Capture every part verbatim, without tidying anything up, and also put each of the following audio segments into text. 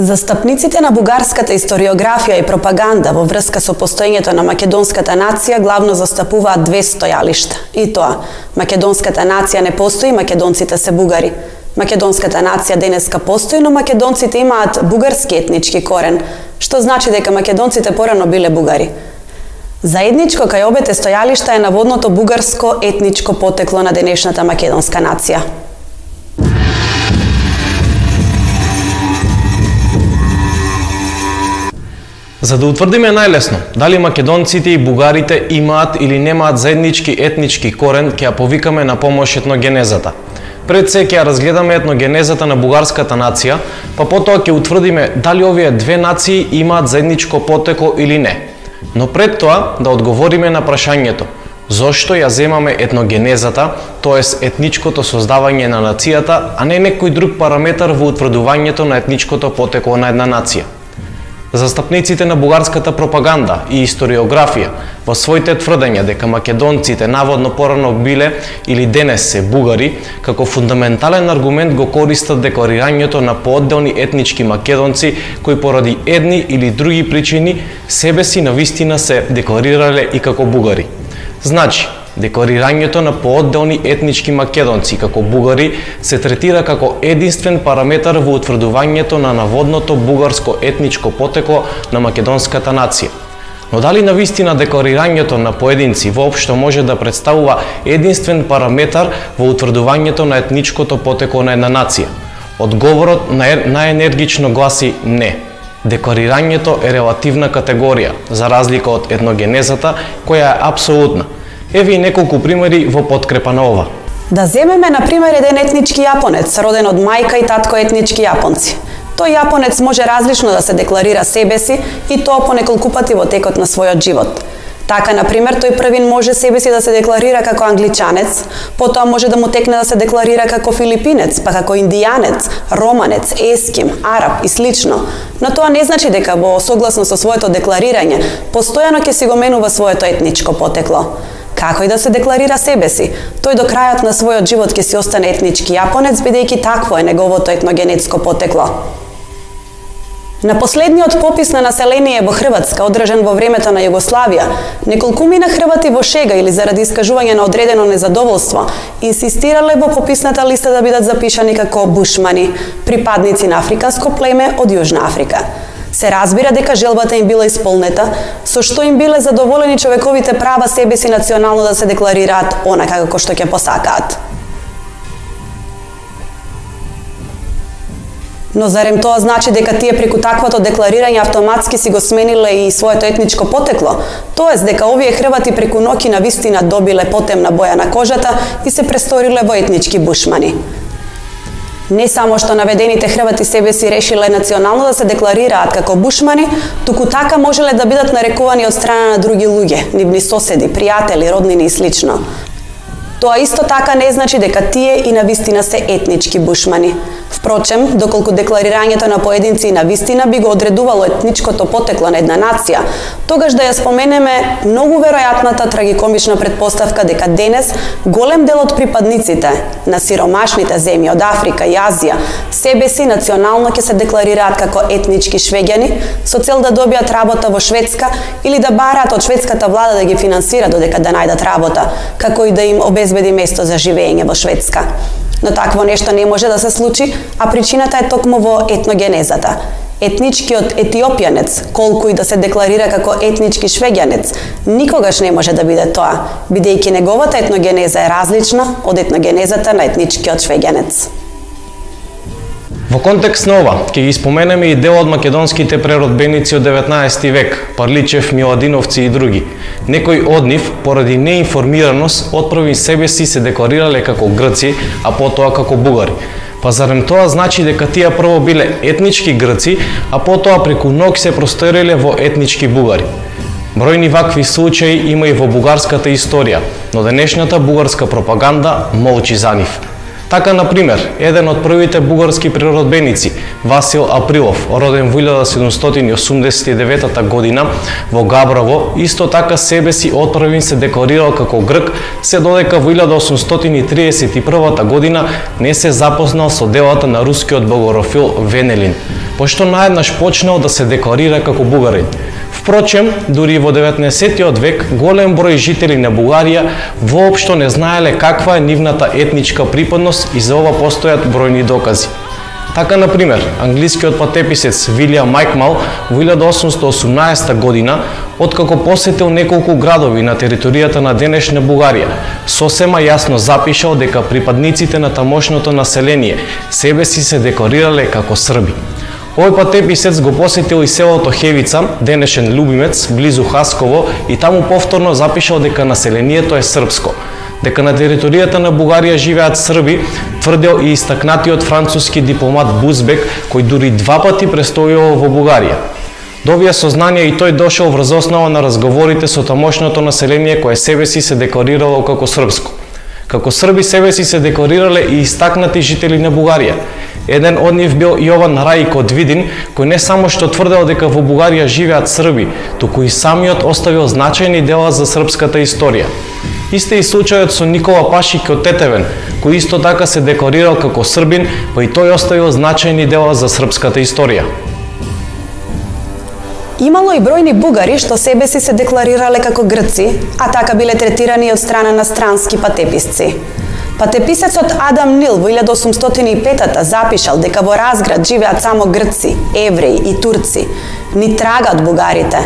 Застапниците на бугарската историографија и пропаганда во врска со постоењето на македонската нација главно застапуваат две стојалишта. И тоа, македонската нација не постои, македонците се бугари. Македонската нација денеска постои, но македонците имаат бугарски етнички корен, што значи дека македонците порано биле бугари. Заедничко кај обете стојалишта е наводното бугарско етничко потекло на денешната македонска нација. За да утврдиме најлесно дали македонците и бугарите имаат или немаат заеднички етнички корен, ќе ја повикаме на помош етногенезата. Пред се ќе ја разгледаме етногенезата на бугарската нација, па потоа ќе утврдиме дали овие две нации имаат заедничко потекло или не. Но пред тоа да одговориме на прашањето зошто ја земаме етногенезата, тоест етничкото создавање на нацијата, а не некој друг параметар во утврдувањето на етничкото потекло на една нација. Застапниците на бугарската пропаганда и историографија во своите тврдења дека македонците наводно порано биле или денес се бугари, како фундаментален аргумент го користат декларирањето на поодделни етнички македонци кои поради едни или други причини себе си навистина се декларирале и како бугари. Значи, декларирањето на поодделни етнички македонци како бугари се третира како единствен параметар во утврдувањето на наводното бугарско етничко потекло на македонската нација. Но дали навистина декларирањето на поединци воопшто може да представува единствен параметар во утврдувањето на етничкото потекло на една нација? Одговорот најенергично гласи не. Декларирањето е релативна категорија, за разлика од етногенезата, која е апсолутна. Еве и неколку примери во подкрепа на ова. Да земеме на пример еден етнички јапонец, роден од мајка и татко етнички јапонци. Тој јапонец може различно да се декларира себе си и тоа по неколку пати во текот на својот живот. Така, на пример, тој првин може себе си да се декларира како англичанец, потоа може да му текне да се декларира како филипинец, па како индијанец, романец, еским, араб и слично. Но тоа не значи дека во согласно со своето декларирање постојано ќе си го менува своето етничко потекло. Како и да се декларира себе си, тој до крајот на својот живот ќе си остане етнички јапонец, бидејќи такво е неговото етногенетско потекло. На последниот попис на население во Хрватска, одржан во времето на Југославија, неколкумина хрвати во шега или заради искажување на одредено незадоволство, инсистирале во пописната листа да бидат запишани како бушмани, припадници на африканско племе од Јужна Африка. Се разбира дека желбата им била исполнета, со што им биле задоволени човековите права себе си национално да се декларираат онака како што ќе посакаат. Но зарем тоа значи дека тие преку таквото декларирање автоматски си го смениле и своето етничко потекло? Тоест дека овие хрвати преку ноќ навистина добиле потемна боја на кожата и се престориле во етнички бушмани? Не само што наведените хрвати себе си решиле национално да се декларираат како бушмани, туку така можеле да бидат нарекувани од страна на други луѓе, нивни соседи, пријатели, роднини и слично. Тоа исто така не значи дека тие и навистина се етнички бушмани. Впрочем, доколку декларирањето на поединци и навистина би го одредувало етничкото потекло на една нација, тогаш да ја споменеме многу веројатната трагикомична предпоставка дека денес голем дел од припадниците на сиромашните земји од Африка и Азија себе си национално ќе се декларираат како етнички швеѓани со цел да добијат работа во Шведска или да бараат од шведската влада да ги финансира додека да најдат работа, како и да им обезбеди место за живење во Шведска. Но такво нешто не може да се случи, а причината е токму во етногенезата. Етничкиот етиопјанец, колку и да се декларира како етнички швеѓанец, никогаш не може да биде тоа, бидејќи неговата етногенеза е различна од етногенезата на етничкиот швеѓанец. Во контекст на ова, ќе ги споменеме и дел од македонските преродбеници од деветнаесети век, Парличев, Миладиновци и други. Некои од нив, поради неинформираност, отпрви себе си се декларирале како грци, а потоа како бугари. Па зарем тоа значи дека тие прво биле етнички грци, а потоа преку ноќ се просториле во етнички бугари? Бројни вакви случаи има и во бугарската историја, но денешната бугарска пропаганда молчи за нив. Така, например, еден од првите бугарски природбеници, Васил Априлов, роден во илјада седумстотини осумдесет и девета година во Габрово, исто така себе си отпрвин се декларирал како грк, се додека во илјада осумстотини триесет и прва година не се запознал со делата на рускиот богорофил Венелин, пошто наеднаш почнал да се декларира како бугарин. Впрочем, дури во деветнаесеттиот век, голем број жители на Бугарија воопшто не знаеле каква е нивната етничка припадност и за ова постојат бројни докази. Така, например, англискиот патеписец Вилијам Майкмал во илјада осумстотини и осумнаесета година, откако посетил неколку градови на територијата на денешна Бугарија, сосема јасно запишал дека припадниците на тамошното население себе си се декларирале како срби. Овој патеписец го посетил и селото Хевица, денешен Љубимец, близу Хасково, и таму повторно запишал дека населението е српско. Дека на територијата на Бугарија живеат срби, тврдел и истакнатиот француски дипломат Бузбек, кој дури два пати престојувал во Бугарија. До овие сознанија и тој дошол врз основа на разговорите со тамошното население кое себе си се декларирало како српско. Како срби себе си се декларирале и истакнати жители на Бугарија. Еден од нив бил Јован Рајко од Видин, кој не само што тврдел дека во Бугарија живеат срби, туку и самиот оставил значајни дела за српската историја. Исте и случајот со Никола Пашик од Тетевен, кој исто така се декларирал како србин, па и тој оставил значајни дела за српската историја. Имало и бројни бугари што себе си се декларирале како грци, а така биле третирани од страна на странски патеписци. Патеписецот Адам Нил во илјада осумстотини и пета запишал дека во Разград живеат само грци, евреи и турци, ни трага од бугарите.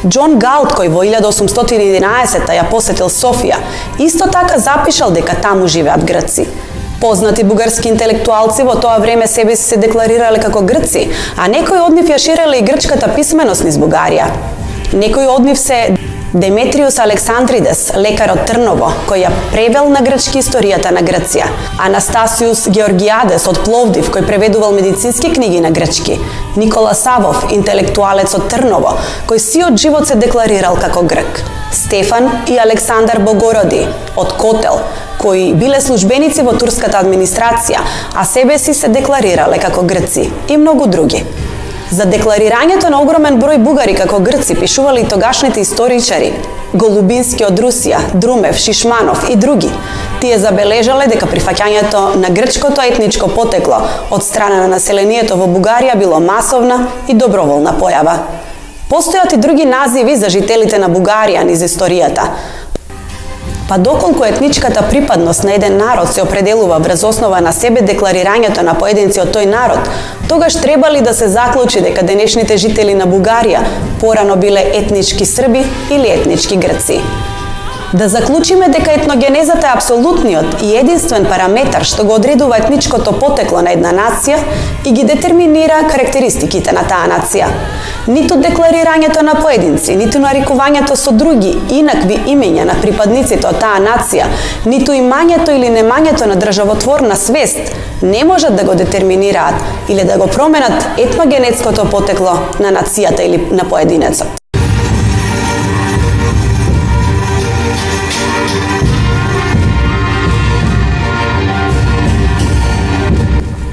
Џон Галт, кој во илјада осумстотини и единаесета ја посетил Софија, исто така запишал дека таму живеат грци. Познати бугарски интелектуалци во тоа време себе си се декларирале како грци, а некои од нив ја ширеле и грчката писменост низ Бугарија. Некои од нив се Деметриус Александридес, лекар од Трново, кој ја превел на грчки историјата на Грција, Анастасиус Георгиадес од Пловдив, кој преведувал медицински книги на грчки, Никола Савов, интелектуалец од Трново, кој сиот живот се декларирал како грк, Стефан и Александар Богороди од Котел, кои биле службеници во турската администрација, а себе си се декларирале како грци, и многу други. За декларирањето на огромен број бугари како грци пишувале и тогашните историчари, Голубински од Русија, Друмев, Шишманов и други. Тие забележале дека прифаќањето на грчкото етничко потекло од страна на населението во Бугарија било масовна и доброволна појава. Постојат и други називи за жителите на Бугарија низ историјата. Па доколку етничката припадност на еден народ се определува врз основа на себе декларирањето на поединци од тој народ, тогаш треба ли да се заклучи дека денешните жители на Бугарија порано биле етнички срби или етнички грци? Да заклучиме дека етногенезата е апсолутниот и единствен параметар што го одредува етничкото потекло на една нација и ги детерминира карактеристиките на таа нација. Ниту декларирањето на поединци, ниту нарекувањето со други инакви имења на припадниците од таа нација, ниту имањето или немањето на државотворна свест не можат да го детерминираат или да го променат етногенетското потекло на нацијата или на поединецот.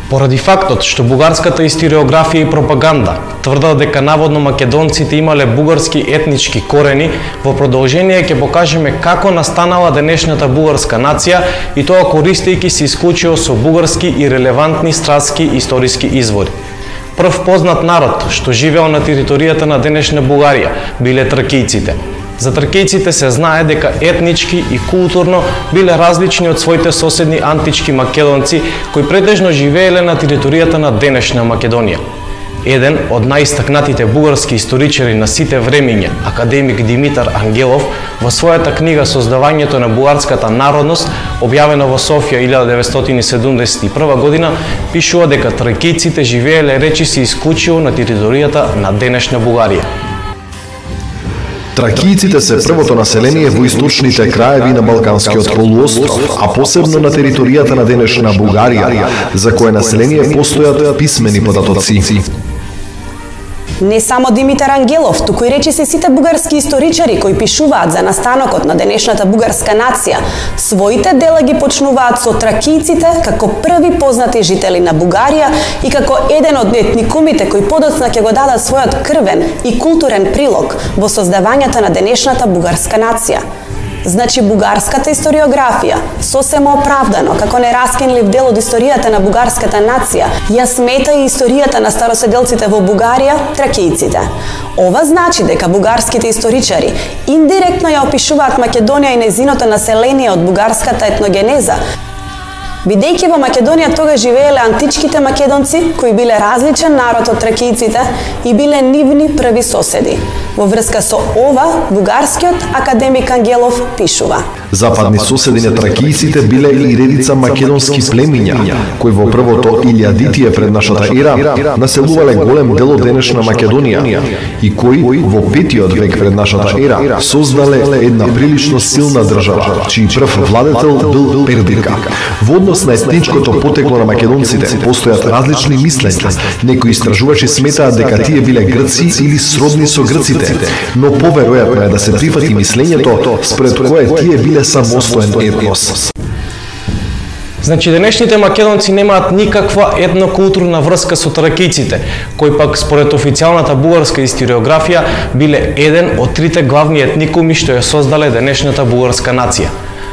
Поради фактот што бугарската историографија и пропаганда тврдат дека наводно македонците имале бугарски етнички корени, во продолжение ќе покажеме како настанала денешната бугарска нација и тоа користејќи се исклучиво со бугарски и релевантни стратски историски извори. Прв познат народ што живеел на територијата на денешна Бугарија биле тракијците. За тракијците се знае дека етнички и културно биле различни од своите соседни антички македонци кои претежно живееле на територијата на денешна Македонија. Еден од најистакнатите бугарски историчари на сите времиња, академик Димитар Ангелов, во својата книга Создавањето на бугарската народност, објавена во Софија илјада деветстотини седумдесет и прва година, пишува дека тракијците живееле речиси исклучиво на територијата на денешна Бугарија. Тракијците се првото население во источните краеви на Балканскиот полуостров, а посебно на територијата на денешна Бугарија, за кое население постојат писмени податоци. Не само Димитар Ангелов, туку и речиси сите бугарски историчари кои пишуваат за настанокот на денешната бугарска нација, своите дела ги почнуваат со тракијците како први познати жители на Бугарија и како еден од етникумите кои подоцна ќе го дадат својот крвен и културен прилог во создавањето на денешната бугарска нација. Значи, бугарската историографија, сосема оправдано, како нераскинлив дел од историјата на бугарската нација, ја смета и историјата на староседелците во Бугарија, тракијците. Ова значи дека бугарските историчари индиректно ја опишуваат Македонија и незиното население од бугарската етногенеза, бидејќи во Македонија тогаш живееле античките македонци, кои биле различен народ од тракијците и биле нивни први соседи. Во врска со ова, бугарскиот академик Ангелов пишува: Западни соседи на тракијците биле и редица македонски племиња, кои во првото илјадитие пред нашата ера населувале голем дел од денешна Македонија и кои во петиот век пред нашата ера создале една прилично силна држава, чиј прв владетел бил Пердика. Во однос на етничкото потекло на македонците постојат различни мислења. Некои истражувачи сметаат дека тие биле грци или сродни со грците, но поверојатно е да се прифати мислењето според кое тие биле самостоен етнос. Значи, денешните македонци немаат никаква етнокултурна врска со тракијците, кои пак според официјалната бугарска историографија биле еден од трите главни етникуми што ја создале денешната бугарска нација.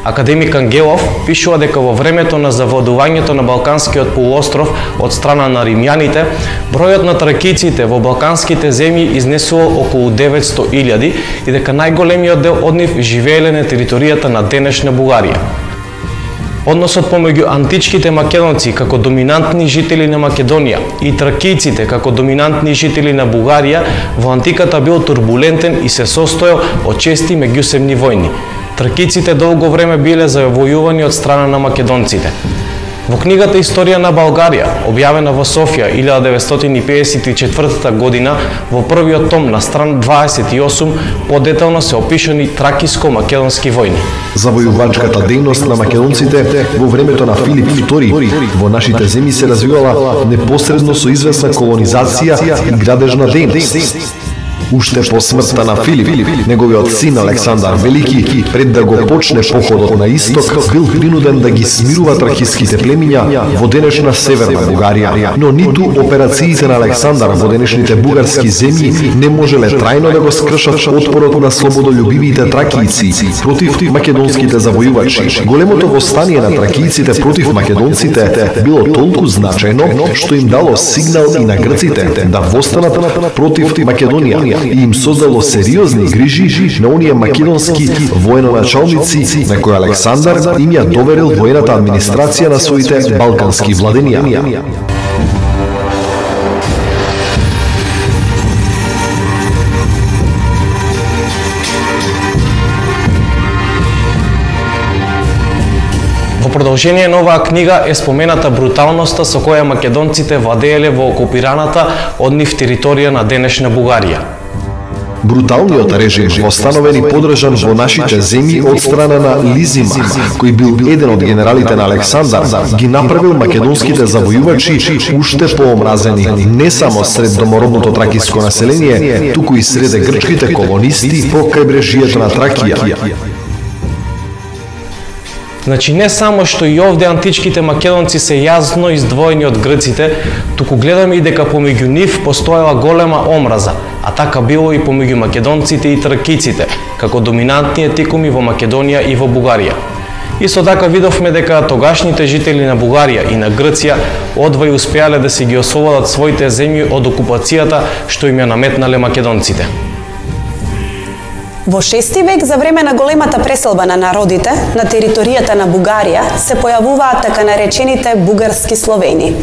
Академик Ангелов пишува дека во времето на завладувањето на Балканскиот полуостров од страна на римјаните, бројот на тракијците во балканските земји изнесувал околу деветсто илјади и дека најголемиот дел од нив живееле на територијата на денешна Бугарија. Односот помеѓу античките македонци како доминантни жители на Македонија и тракијците како доминантни жители на Бугарија во антиката бил турбулентен и се состоел од чести меѓусебни војни. Тракијците долго време биле завојувани од страна на македонците. Во книгата Историја на Българија, објавена во Софија илјада деветстотини педесет и четвртата година, во првиот том на страна дваесет и осум, подетално се опишани тракиско-македонски војни. Завојувачката дејност на македонците во времето на Филип втори во нашите земји се развивала непосредно со известна колонизација и градежна дејност. Уште по смртта на Филип, неговиот син Александар Велики, пред да го почне походот на исток, бил принуден да ги смирува тракиските племиња во денешна северна Бугарија. Но ниту операциите на Александар во денешните бугарски земји не можеле трајно да го скршат отпорот на слободолюбивите тракијци против македонските завојувачи. Големото востание на тракијците против македонците било толку значајно што им дало сигнал и на грците да востанат против Македонија и им создало сериозни грижи на оние македонски военоначалници на кои Александар им ја доверил воената администрација на своите балкански владења. Во продолжение на оваа книга е спомената бруталноста со која македонците владееле во окупираната од нив територија на денешна Бугарија. Бруталниот режим восстановен и подржан во нашите земји од страна на Лизимах, кој бил еден од генералите на Александар, ги направил македонските завојувачи уште поомразени не само сред домородното тракиско население, туку и среде грчките колонисти по крајбрежјето на Тракија. Значи, не само што и овде античките македонци се јасно издвоени од грците, туку гледаме и дека помеѓу нив постоела голема омраза, а така било и помеѓу македонците и тракијците, како доминантни етникуми во Македонија и во Бугарија. Исто така видовме дека тогашните жители на Бугарија и на Грција одвај успеале да се ги ослободат своите земји од окупацијата што им ја наметнале македонците. Во шести век, за време на големата преселба на народите на територијата на Бугарија, се појавуваат така наречените бугарски словени.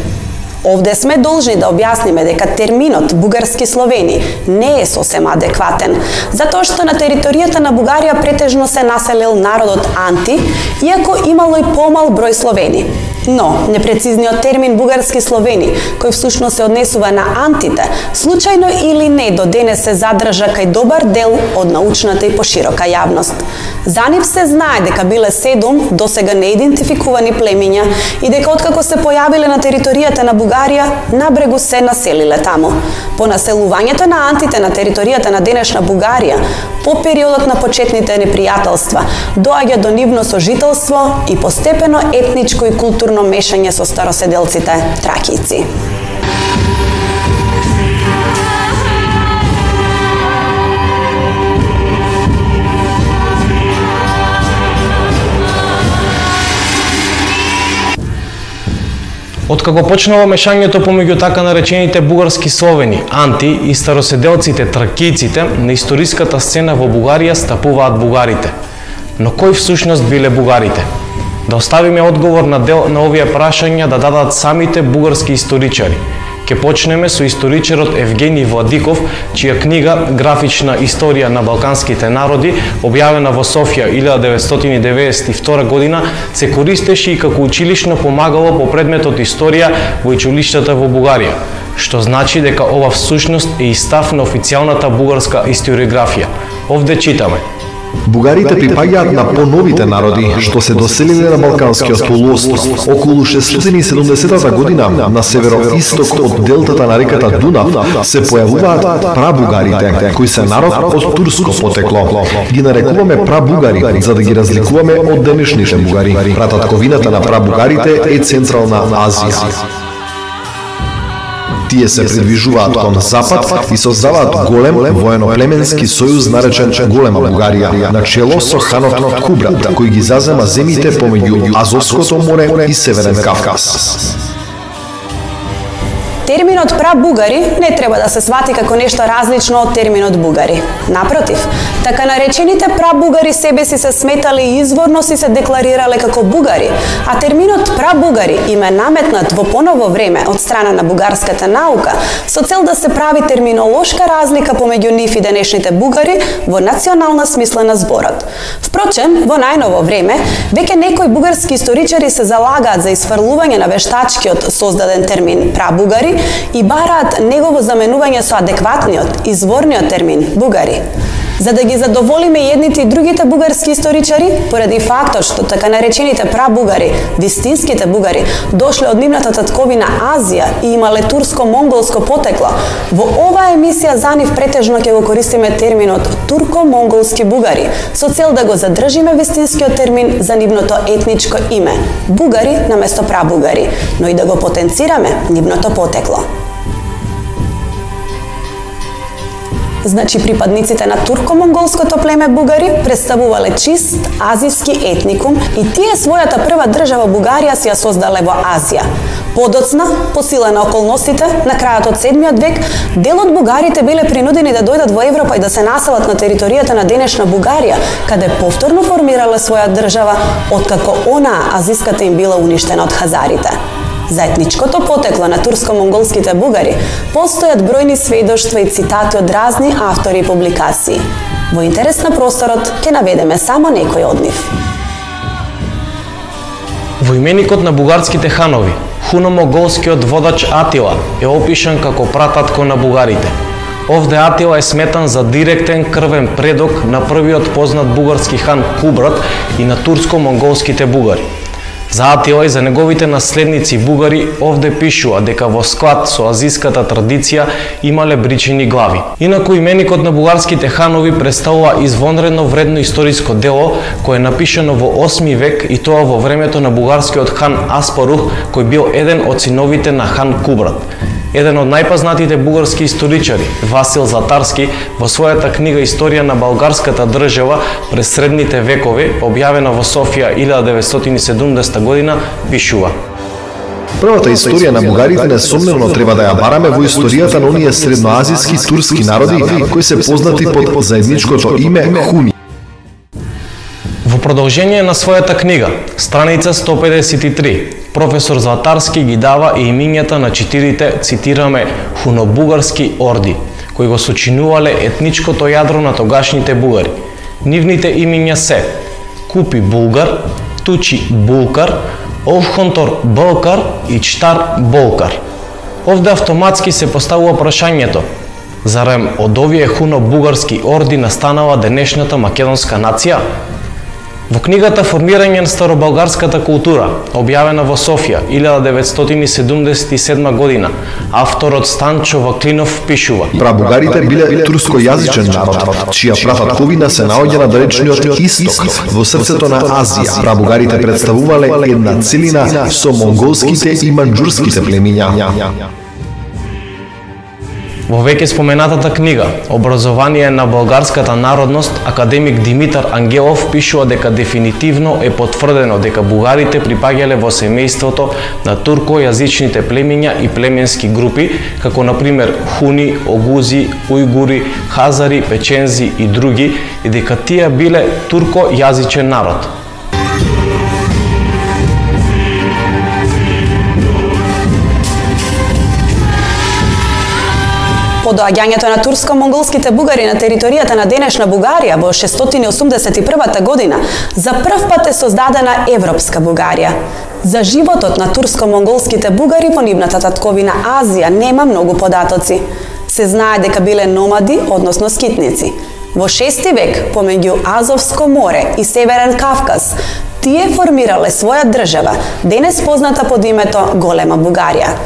Овде сме должни да објасниме дека терминот бугарски словени не е сосема адекватен, затоа што на територијата на Бугарија претежно се населил народот Анти, иако имало и помал број словени. Но, непрецизниот термин бугарски словени, кој всушност се однесува на антите, случајно или не до денес се задржа кај добар дел од научната и поширока јавност. За нив се знае дека биле седум досега неидентификувани племиња и дека откако се појавиле на територијата на Бугарија, набрегу се населиле таму. По населувањето на антите на територијата на денешна Бугарија, по периодот на почетните непријателства, доаѓа до нивно сожителство и постепено етничко и културно мешање со староседелците тракијци. Откако почнало мешањето помеѓу така наречените бугарски словени, анти и староседелците тракијците, на историската сцена во Бугарија стапуваат бугарите. Но кои всушност биле бугарите? Да оставиме одговор на дел на овие прашања да дадат самите бугарски историчари. Ке почнеме со историчарот Евгений Владиков, чија книга Графична историја на балканските народи, објавена во Софија илјада деветстотини деветдесет и втора година, се користеше и како училишно помагало по предметот историја во училиштата во Бугарија, што значи дека ова всушност е и став на официјалната бугарска историографија. Овде читаме: Бугарите припаѓаат на поновите народи што се доселиле на Балканскиот полуостров. Околу шестстотини и седумдесетата година на североисток од делтата на реката Дунав се појавуваат прабугарите, кои се народ од турско потекло. Ги нарекуваме прабугари за да ги разликуваме од денешните бугари. Прататковината на прабугарите е Централна Азија. Тие се придвижуваат кон запад и создаваат голем воено-племенски сојуз наречен Голема Бугарија, на чело со ханот Кубрат, кој ги зазема земите помеѓу Азовското море и Северен Кавказ. Терминот прабугари не треба да се свати како нешто различно од терминот бугари. Напротив, така наречените прабугари себе си се сметале и изворно си се декларирале како бугари, а терминот прабугари им е наметнат во поново време од страна на бугарската наука со цел да се прави терминолошка разлика помеѓу нив и денешните бугари во национална смисла на зборот. Впрочем, во најново време, веќе некои бугарски историчари се залагаат за изфрлување на вештачкиот создаден термин прабугари и бараат негово заменување со адекватниот, изворниот термин бугари. За да ги задоволиме едните и другите бугарски историчари, поради фактот што така наречените прабугари, вистинските бугари, дошле од нивната татковина Азија и имале турско-монголско потекло, во оваа емисија за нив претежно ќе го користиме терминот турко-монголски бугари, со цел да го задржиме вистинскиот термин за нивното етничко име – бугари наместо прабугари, но и да го потенцираме нивното потекло. Значи, припадниците на турко-монголското племе бугари представувале чист азиски етникум и тие својата прва држава Бугарија си ја создале во Азија. Подоцна, по сила на околностите, на крајот од седмиот век, дел од бугарите биле принудени да дојдат во Европа и да се населат на територијата на денешна Бугарија, каде повторно формирале своја држава, откако онаа азиската им била уништена од хазарите. За етничкото потекло на турско-монголските бугари постојат бројни сведоштва и цитати од разни автори и публикации. Во интерес на просторот ќе наведеме само некои од нив. Во именикот на бугарските ханови, хуно-монголскиот водач Атила е опишан како прататко на бугарите. Овде Атила е сметан за директен крвен предок на првиот познат бугарски хан Кубрат и на турско-монголските бугари. За Атила и за неговите наследници бугари овде пишува дека во склад со азиската традиција имале бричени глави. Инаку именикот на бугарските ханови представува извонредно вредно историско дело кое е напишано во осми век и тоа во времето на бугарскиот хан Аспарух, кој бил еден од синовите на хан Кубрат. Еден од најпознатите бугарски историчари, Васил Златарски, во својата книга Историја на българската држава през средните векови, објавена во Софија илјада деветстотини и седумдесета година, пишува: Првата историја на бугарите несомнено треба да ја бараме во историјата на оние средноазиски турски народи кои се познати под заедничкото име Хуни. Во продолжение на својата книга, страница сто педесет и три, професор Златарски ги дава и имињата на четирите, цитираме, хунобугарски орди, кои го сочинувале етничкото јадро на тогашните бугари. Нивните имиња се Купи Булгар, Тучи Булкар, Овхонтор Болкар и Чтар Болкар. Овде автоматски се поставува прашањето: зарем од овие хуно-бугарски орди настанала денешната македонска нација? Во книгата Формирање на староболгарската култура, објавена во Софија илјада деветстотини седумдесет и седма година, авторот Станчо Ваклинов пишува: Прабугарите биле турскојазичен народ, чија прататковина се наоѓа на далечниот исток, во срцето на Азија. Прабугарите представувале една целина со монголските и манџурските племиња. Во веќе споменатата книга Образование на болгарската народност, академик Димитар Ангелов пишува дека дефинитивно е потврдено дека бугарите припаѓале во семејството на туркојазичните племиња и племенски групи, како например хуни, огузи, ујгури, хазари, печензи и други, и дека тие биле туркојазичен народ. По доаѓањето на турско-монголските бугари на територијата на денешна Бугарија во шестстотини осумдесет и прва година, за прв пат е создадена Европска Бугарија. За животот на турско-монголските бугари во нивната татковина Азија нема многу податоци. Се знае дека биле номади, односно скитници. Во шести век, помеѓу Азовско море и Северен Кавказ, тие формирале своја држава, денес позната под името Голема Бугарија.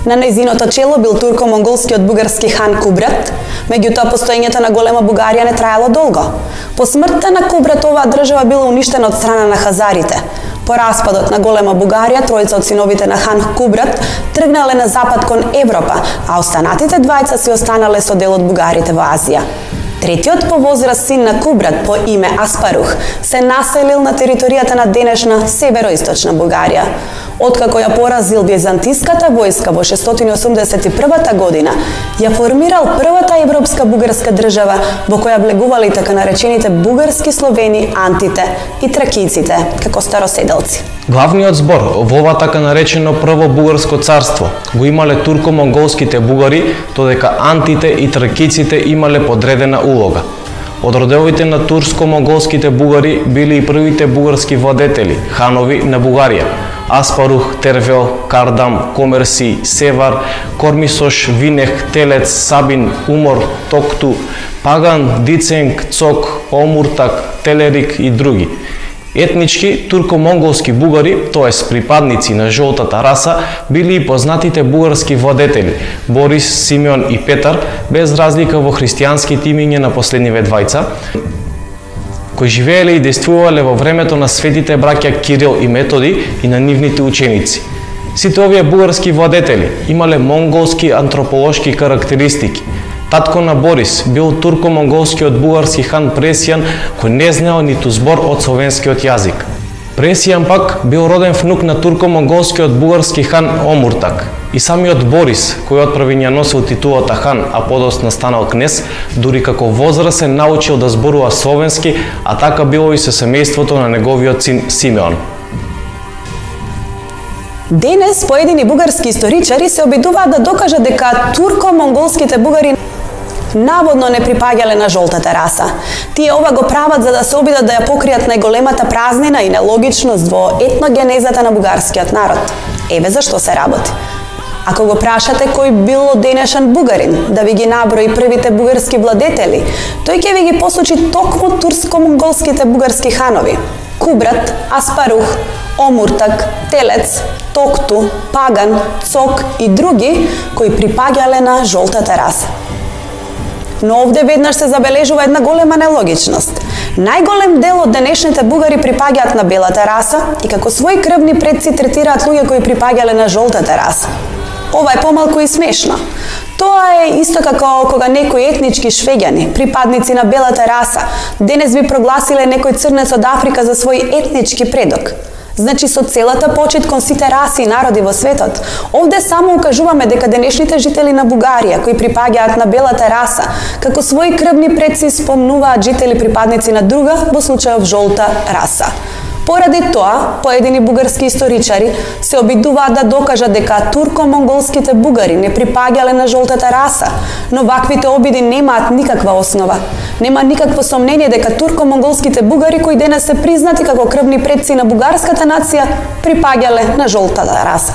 На нејзиното чело бил турко-монголскиот бугарски хан Кубрат, меѓутоа постоењето на Голема Бугарија не траело долго. По смртта на Кубрат оваа држава била уништена од страна на хазарите. По распадот на Голема Бугарија, тројца од синовите на хан Кубрат тргнале на запад кон Европа, а останатите двајца си останале со дел од бугарите во Азија. Третиот по возраст син на Кубрат по име Аспарух се населил на територијата на денешна североисточна Бугарија. Откако ја поразил византиската војска во шестстотини осумдесет и прва година, ја формирал првата европска бугарска држава во која влегувале и така наречените бугарски словени, антите и тракиците, како староседелци. Главниот збор во ова така наречено прво бугарско царство го имале турко-монголските бугари, додека антите и тракиците имале подредена улога. Од родовите на турско-монголските бугари били и првите бугарски владетели, ханови на Бугарија: Аспарух, Тервел, Кардам, Комерси, Севар, Кормисош, Винех, Телец, Сабин, Умор, Токту, Паган, Диценг, Цок, Омуртак, Телерик и други. Етнички турко-монголски бугари, тоест припадници на жолтата раса, били и познатите бугарски владетели Борис, Симеон и Петар, без разлика во христијанските имиња на последниве двајца, кои живееле и действувале во времето на светите браќа Кирил и Методи и на нивните ученици. Сите овие бугарски владетели имале монголски антрополошки карактеристики. Татко на Борис бил турко-монголскиот бугарски хан Пресијан, кој не знаел ниту збор од словенскиот јазик. Пресијан пак бил роден внук на турко-монголскиот бугарски хан Омуртак. И самиот Борис, кој отпрви ја носил титулата хан, а подоцна станал кнез, дури како возрасен научил да зборува словенски, а така било и со семејството на неговиот син Симеон. Денес поедини бугарски историчари се обидуваат да докажат дека турко-монголските бугари наводно не припаѓале на жолтата раса. Тие ова го прават за да се обидат да ја покријат најголемата празнина и нелогичност во етногенезата на бугарскиот народ. Еве зашто се работи. Ако го прашате кој бил денешен бугарин да ви ги наброи првите бугарски владетели, тој ќе ви ги посочи токму турско-монголските бугарски ханови: Кубрат, Аспарух, Омуртак, Телец, Токту, Паган, Цок и други кои припаѓале на жолтата раса. Но овде веднаш се забележува една голема нелогичност. Најголем дел од денешните бугари припаѓаат на белата раса и како своји крвни предци третираат луѓе кои припаѓале на жолтата раса. Ова е помалку и смешно. Тоа е исто како кога некои етнички швеѓани, припадници на белата раса, денес би прогласиле некој црнец од Африка за свој етнички предок. Значи, со целата почит кон сите раси и народи во светот, овде само укажуваме дека денешните жители на Бугарија, кои припаѓаат на белата раса, како своји крвни предци спомнуваат жители припадници на друга, во случајов жолта раса. Поради тоа, поедини бугарски историчари се обидуваат да докажат дека турко-монголските бугари не припаѓале на жолтата раса, но ваквите обиди немаат никаква основа. Нема никакво сомнение дека турко-монголските бугари, кои денес се признати како крвни предци на бугарската нација, припаѓале на жолтата раса.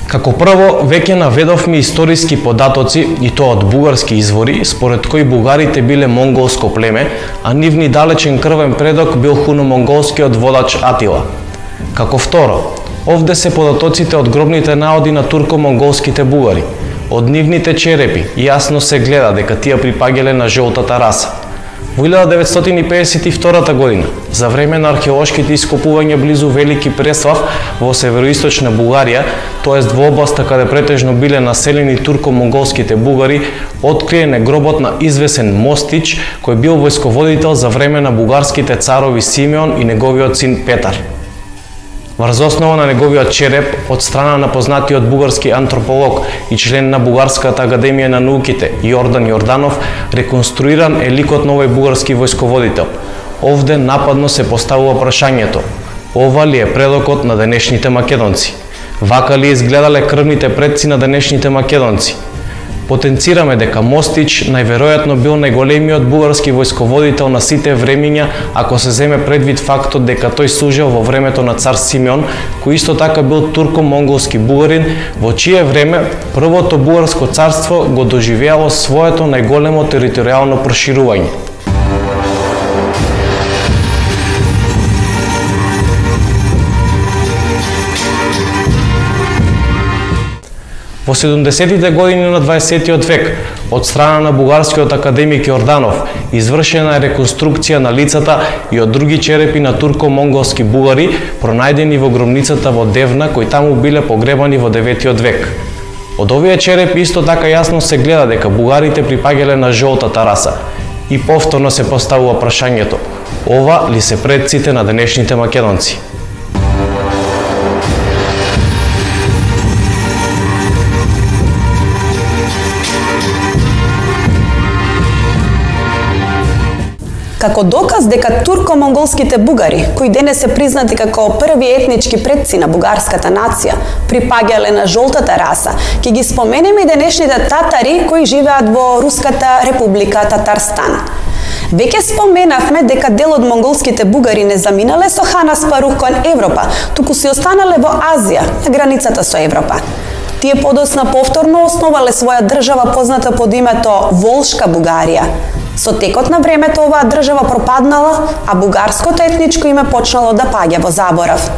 Како прво, веќе наведовме историски податоци, и тоа од бугарски извори, според кои бугарите биле монголско племе, а нивни далечен крвен предок бил хуно-монголскиот водач Атила. Како второ, овде се податоците од гробните наоди на турко-монголските бугари. Од нивните черепи јасно се гледа дека тие припаѓале на жолтата раса. Во илјада деветстотини педесет и втора година, за време на археолошките ископувања близу Велики Преслав во североисточна Бугарија, тоест во областа каде претежно биле населени турко-монголските бугари, откриен гробот на извесен Мостич, кој бил војсководител за време на бугарските царови Симеон и неговиот син Петар. Врз основа на неговиот череп, од страна на познатиот бугарски антрополог и член на Бугарската академија на науките Јордан Јорданов, реконструиран е ликот на овој бугарски војсководител. Овде нападно се поставува прашањето: ова ли е предокот на денешните македонци? Вака ли изгледале крвните предци на денешните македонци? Потенцираме дека Мостич најверојатно бил најголемиот бугарски војсководител на сите времиња, ако се земе предвид фактот дека тој служел во времето на цар Симеон, кој исто така бил турко-монголски бугарин, во чие време првото бугарско царство го доживеало своето најголемо територијално проширување. Во седумдесетите години на дваесеттиот век, од страна на бугарскиот академик Јорданов, извршена е реконструкција на лицата и од други черепи на турко-монголски бугари, пронајдени во гробницата во Девна, кои таму биле погребани во деветиот век. Од овие черепи исто така јасно се гледа дека бугарите припаѓале на жолтата раса. И повторно се поставува прашањето: ова ли се предците на денешните македонци? Како доказ дека турко-монголските бугари, кои денес се признати како први етнички предци на бугарската нација, припаѓале на жолтата раса, ќе ги споменеме и денешните татари кои живеат во Руската република Татарстан. Веќе споменавме дека дел од монголските бугари не заминале со хан Аспарух кон Европа, туку си останале во Азија, на границата со Европа. Тие подоцна повторно основале своја држава позната под името Волшка Бугарија. Со текот на времето оваа држава пропаднала, а бугарското етничко име почнало да паѓа во заборав.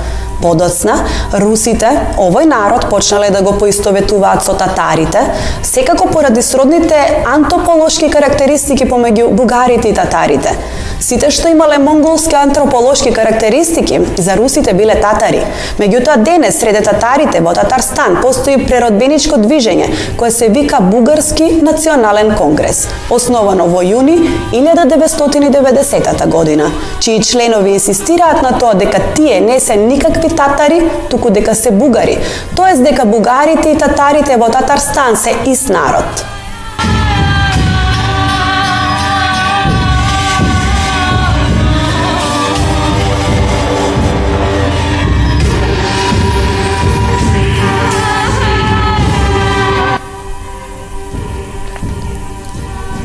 Подоцна, русите, овој народ почнале да го поистоветуваат со татарите, секако поради сродните антрополошки карактеристики помеѓу бугарите и татарите. Сите што имале монголски антрополошки карактеристики, за русите биле татари. Меѓутоа денес среде татарите во Татарстан постои преродбеничко движење кое се вика Бугарски национален конгрес, основано во јуни илјада деветстотини и деветдесета година, чии членови инсистираат на тоа дека тие не се никакви татари, туку дека се бугари, тоест дека бугарите и татарите во Татарстан се ист народ.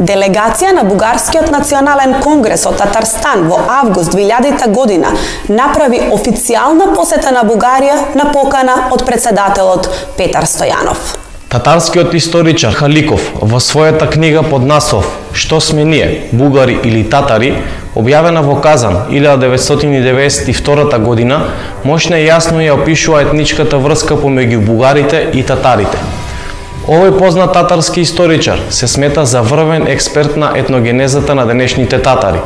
Делегација на Бугарскиот национален конгрес од Татарстан во август две илјадета година направи официјална посета на Бугарија на покана од председателот Петар Стојанов. Татарскиот историчар Халиков во својата книга под наслов "Што сме ние, бугари или татари", објавена во Казан илјада деветстотини деветдесет и втора година, мощно и јасно ја опишува етничката врска помеѓу бугарите и татарите. Овој познат татарски историчар се смета за врвен експерт на етногенезата на денешните татари.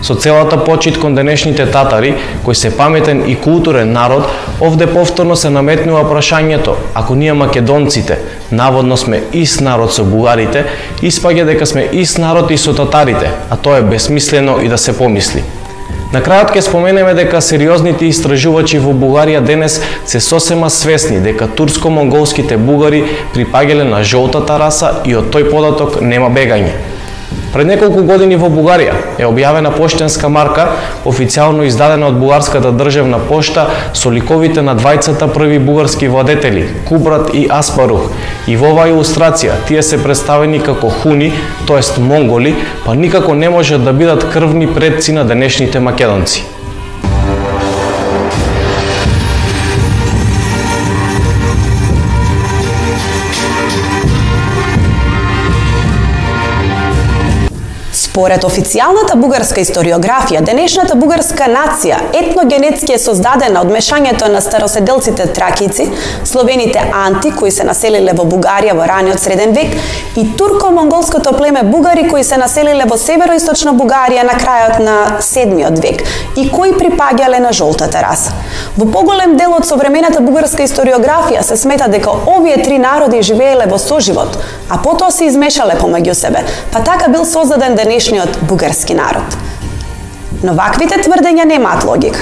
Со целата почит кон денешните татари, кои се паметен и културен народ, овде повторно се наметнува прашањето: ако ние македонците наводно сме ист народ со бугарите, испаѓа дека сме ист народ и со татарите, а тоа е бесмислено и да се помисли. На крајот ќе споменеме дека сериозните истражувачи во Бугарија денес се сосема свесни дека турско-монголските бугари припаѓале на жолтата раса и од тој податок нема бегање. Пред неколку години во Бугарија е објавена поштенска марка, официјално издадена од бугарската државна пошта, со ликовите на двајцата први бугарски владетели, Кубрат и Аспарух. И во оваа илустрација тие се представени како хуни, тоест монголи, па никако не можат да бидат крвни предци на денешните македонци. Според официјалната бугарска историографија, денешната бугарска нација етногенетски е создадена од мешањето на староседелците тракици, словените анти кои се населиле во Бугарија во раниот среден век и турко-монголското племе бугари кои се населиле во североисточна Бугарија на крајот на седмиот век и кои припаѓале на жолтата раса. Во поголем дел од современата бугарска историографија се смета дека овие три народи живееле во соживот, а потоа се измешале помеѓу себе, па така бил создаден денешниот бугарски народ. Но ваквите тврдења немаат логика.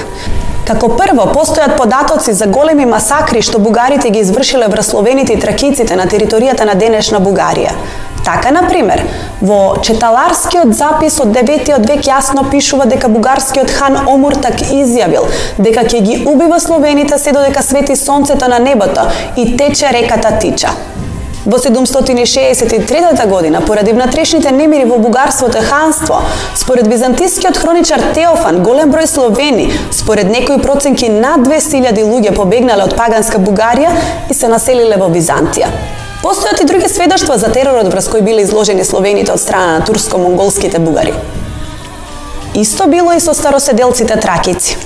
Како прво, постојат податоци за големи масакри што бугарите ги извршиле врз словените и тракиците на територијата на денешна Бугарија. Така, например, во Четаларскиот запис од деветиот век јасно пишува дека бугарскиот хан Омуртак изјавил дека ќе ги убива словените се додека свети сонцето на небото и тече реката Тича. Во седумстотини шеесет и трета година, поради внатрешните немири во бугарското ханство, според византискиот хроничар Теофан, голем број словени, според некои проценки над двесте илјади луѓе побегнале од паганска Бугарија и се населиле во Византија. Постојат и други сведоштва за теророт врз кој биле изложени словените од страна на турско-монголските бугари. Исто било и со староседелците тракици.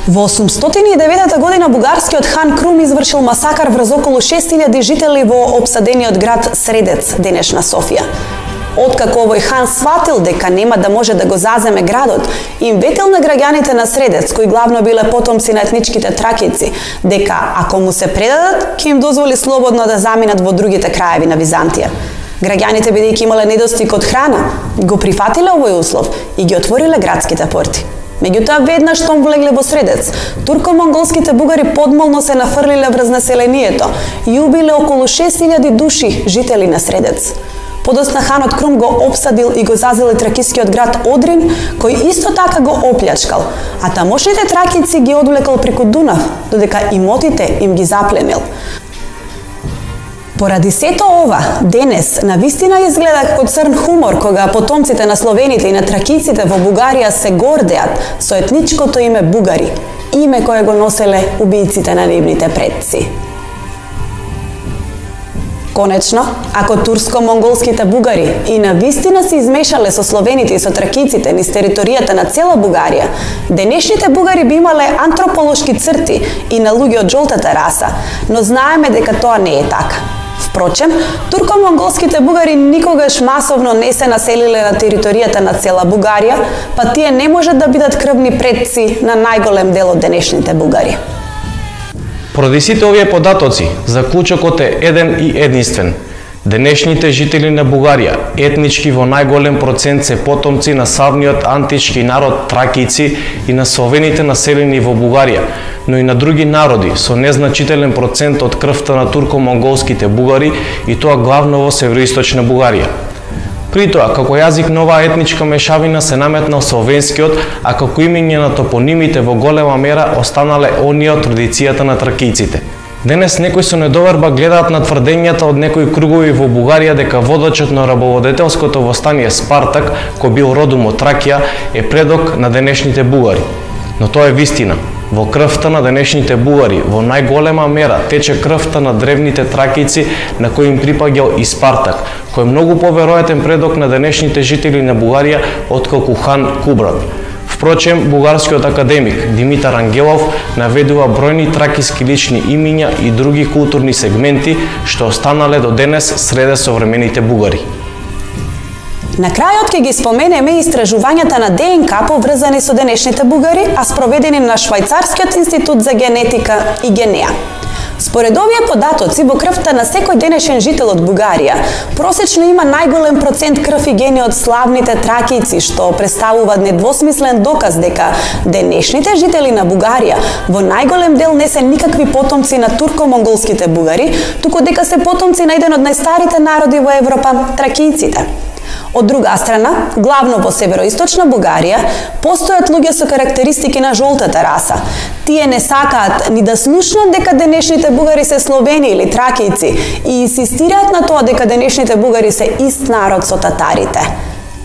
Во осумстотини и девета година бугарскиот хан Крум извршил масакар врз околу шест илјади жители во обсадениот град Средец, денешна Софија. Откако овој хан сватил дека нема да може да го заземе градот, им ветил на граѓаните на Средец, кои главно биле потомци на етничките тракици, дека ако му се предадат, ќе им дозволи слободно да заминат во другите краеви на Византија. Граѓаните, бидејќи имале недостиг од храна, го прифатиле овој услов и ги отвориле градските порти. Меѓутоа, веднаш штом влегле во Средец, турко-монголските бугари подмолно се нафрлиле врз населението и убиле околу шест илјади души жители на Средец. Подоцна ханот Крум го опсадил и го зазел и тракискиот град Одрин, кој исто така го оплјачкал, а тамошните тракици ги одвлекал преку Дунав, додека имотите им ги запленил. Поради сето ова, денес навистина изгледа како црн хумор кога потомците на словените и на тракиците во Бугарија се гордеат со етничкото име бугари, име кое го носеле убијците на нивните предци. Конечно, ако турско-монголските бугари и навистина се измешале со словените и со тракиците низ територијата на цела Бугарија, денешните бугари би имале антрополошки црти и на луѓе од жолтата раса, но знаеме дека тоа не е така. Впрочем, турко-монголските бугари никогаш масовно не се населиле на територијата на цела Бугарија, па тие не можат да бидат крвни предци на најголем дел од денешните бугари. Поради сите овие податоци, заклучокот е еден и единствен. Денешните жители на Бугарија, етнички во најголем процент се потомци на славниот антички народ тракици и на словените населени во Бугарија, но и на други народи со незначителен процент од крвта на турко-монголските бугари и тоа главно во североисточна Бугарија. При тоа, како јазик на оваа етничка мешавина се наметнал словенскиот, а како имење на топонимите во голема мера останале оние од традицијата на тракиците. Денес некои со недоверба гледаат на тврдењата од некои кругови во Бугарија дека водачот на рабоводетелското востание Спартак, кој бил родом од Тракија, е предок на денешните бугари. Но тоа е вистина. Во крвта на денешните бугари во најголема мера тече крвта на древните тракици на кои им припаѓал и Спартак, кој е многу поверојатен предок на денешните жители на Бугарија отколку хан Кубрат. Впрочем, бугарскиот академик Димитар Ангелов наведува бројни тракиски лични имиња и други културни сегменти што останале до денес среде современите бугари. На крајот ќе ги споменеме истражувањата на ДНК поврзани со денешните бугари, а спроведени на Швајцарскиот институт за генетика и Генеа. Според овие податоци, во крвта на секој денешен жител од Бугарија, просечно има најголем процент крв и гени од славните тракици, што представуваат недвосмислен доказ дека денешните жители на Бугарија во најголем дел не се никакви потомци на турко-монголските бугари, туку дека се потомци на еден од најстарите народи во Европа, тракиците. Од друга страна, главно во североисточна Бугарија, постојат луѓе со карактеристики на жолтата раса. Тие не сакаат ни да слушнат дека денешните бугари се словени или тракици и инсистираат на тоа дека денешните бугари се ист народ со татарите.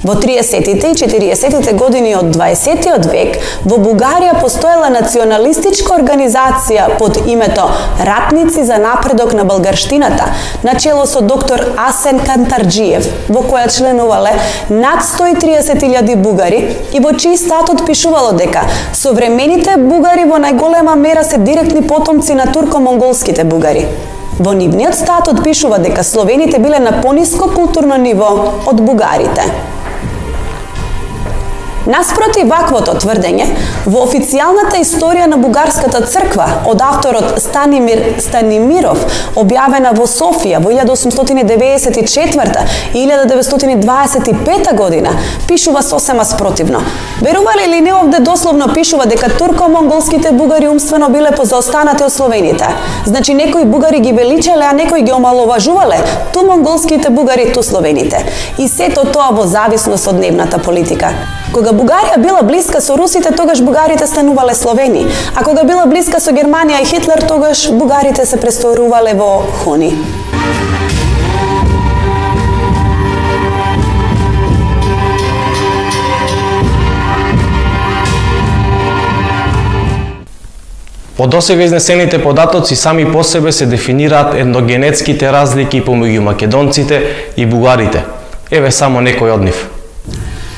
Во триесеттите и четириесеттите години од дваесеттиот век во Бугарија постоела националистичка организација под името Ратници за напредок на българштината, начело со доктор Асен Кантарджиев, во која членувале над сто и триесет илјади бугари и во чиј статут пишувало дека современите бугари во најголема мера се директни потомци на турко-монголските бугари. Во нивниот статут пишува дека словените биле на пониско културно ниво од бугарите. Наспроти ваквото тврдење, во официјалната историја на бугарската црква од авторот Станимир Станимиров, објавена во Софија во илјада осумстотини деветдесет и четврта и илјада деветстотини дваесет и пета година, пишува сосема спротивно. Верувале или не, овде дословно пишува дека турко-монголските бугари умствено биле позаостанати од словените. Значи некои бугари ги величале, а некои ги омаловажувале, ту монголските бугари, ту словените. И сето тоа во зависност од нивната политика. Кога Бугарија била блиска со русите, тогаш бугарите станувале словени, а кога била блиска со Германија и Хитлер, тогаш бугарите се престорувале во хуни. По досега изнесените податоци сами по себе се дефинираат етногенетските разлики помеѓу македонците и бугарите. Еве само некој од нив.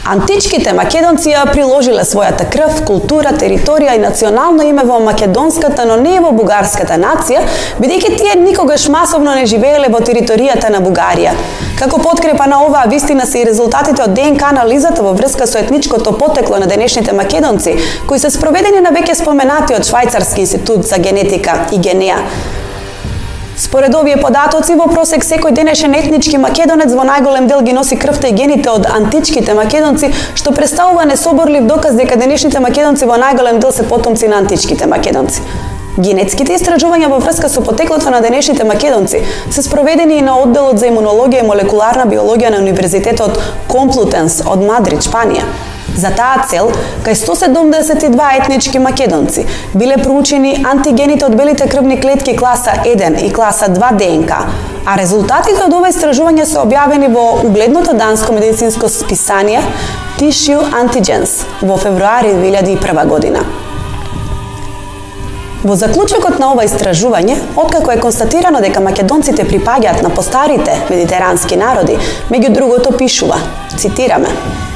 Античките македонци ја приложиле својата крв, култура, територија и национално име во македонската, но не во бугарската нација, бидејќи тие никогаш масовно не живееле во територијата на Бугарија. Како подкрепа на оваа вистина се и резултатите од ДНК анализата во врска со етничкото потекло на денешните македонци, кои се спроведени на веќе споменатиот Швајцарски институт за генетика и Генеа. Според овие податоци, во просек секој денешен етнички македонец во најголем дел ги носи крвта и гените од античките македонци, што представува несоборлив доказ дека денешните македонци во најголем дел се потомци на античките македонци. Генетските истражувања во врска со потеклото на денешните македонци се спроведени и на одделот за имунологија и молекуларна биологија на Универзитетот Комплутенс од Мадрид, Шпанија. За таа цел, кај сто седумдесет и два етнички македонци биле проучени антигените од белите крвни клетки класа еден и класа два ДНК, а резултатите од ова истражување се објавени во угледното данско медицинско списание Tissue Antigens во февруари две илјади и прва година. Во заклучокот на ова истражување, откако е констатирано дека македонците припаѓаат на постарите медитерански народи, меѓу другото пишува, цитираме: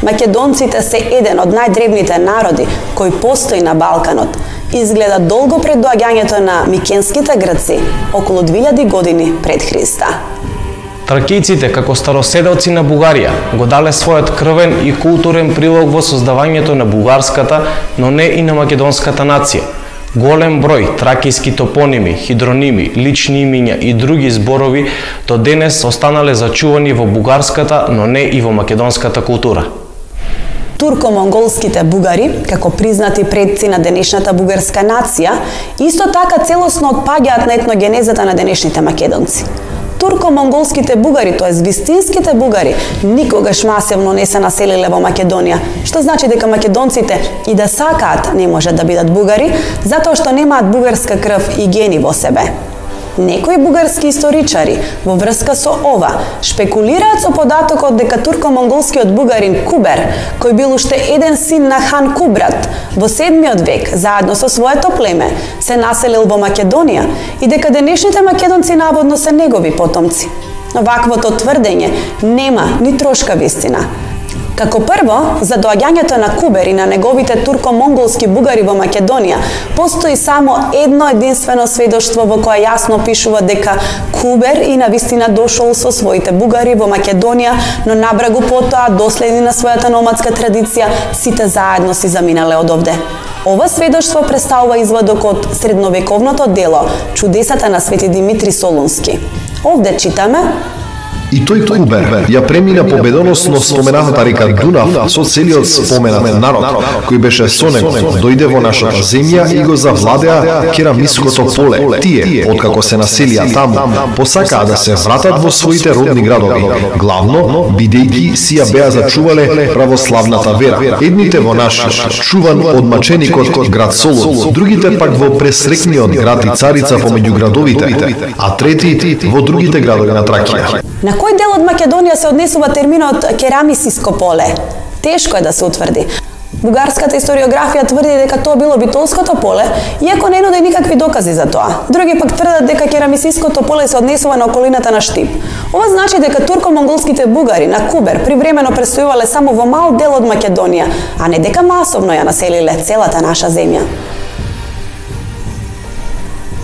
"Македонците се еден од најдревните народи кој постои на Балканот. Изгледа долго пред доаѓањето на микенските грци, околу две илјади години пред Христа." Тракијците, како староседелци на Бугарија, го дале својот крвен и културен прилог во создавањето на бугарската, но не и на македонската нација. Голем број тракијски топоними, хидроними, лични имиња и други зборови до денес останале зачувани во бугарската, но не и во македонската култура. Турко-монголските бугари, како признати предци на денешната бугарска нација, исто така целосно отпаѓаат на етногенезата на денешните македонци. Турко-монголските бугари, тоест вистинските бугари, никогаш масивно не се населиле во Македонија, што значи дека македонците и да сакаат не можат да бидат бугари, затоа што немаат бугарска крв и гени во себе. Некои бугарски историчари во врска со ова шпекулираат со податокот дека турко-монголскиот бугарин Кубер, кој бил уште еден син на хан Кубрат, во седмиот век, заедно со своето племе, се населил во Македонија и дека денешните македонци наводно се негови потомци. Ваквото тврдење нема ни трошка вистина. Како прво, за доаѓањето на Кубер и на неговите турко-монголски бугари во Македонија, постои само едно единствено сведоштво во кое јасно пишува дека Кубер и навистина дошол со своите бугари во Македонија, но набрагу потоа, доследни на својата номадска традиција, сите заедно си заминале од овде. Ова сведоштво представува извадок од средновековното дело Чудесата на Свети Димитри Солунски. Овде читаме: И тој Кубер ја премина победоносно споменатата река Дунав со целиот споменат народ, кој беше со него, дојде во нашата земја и го завладеа керамиското поле. Тие, откако се населија таму, посакаа да се вратат во своите родни градови, главно бидејќи си ја беа зачувале православната вера. Едните во нашиот чуван од маченикот град Солун, другите пак во пресрекниот град и царица помеѓу градовите, а трети во другите градови на Тракија. На кој дел од Македонија се однесува терминот керамисиско поле? Тешко е да се утврди. Бугарската историографија тврди дека тоа било битолското поле, иако не нуди никакви докази за тоа. Други пак тврдат дека керамисиското поле се однесува на околината на Штип. Ова значи дека турко-монголските бугари на Кубер привремено престојувале само во мал дел од Македонија, а не дека масовно ја населиле целата наша земја.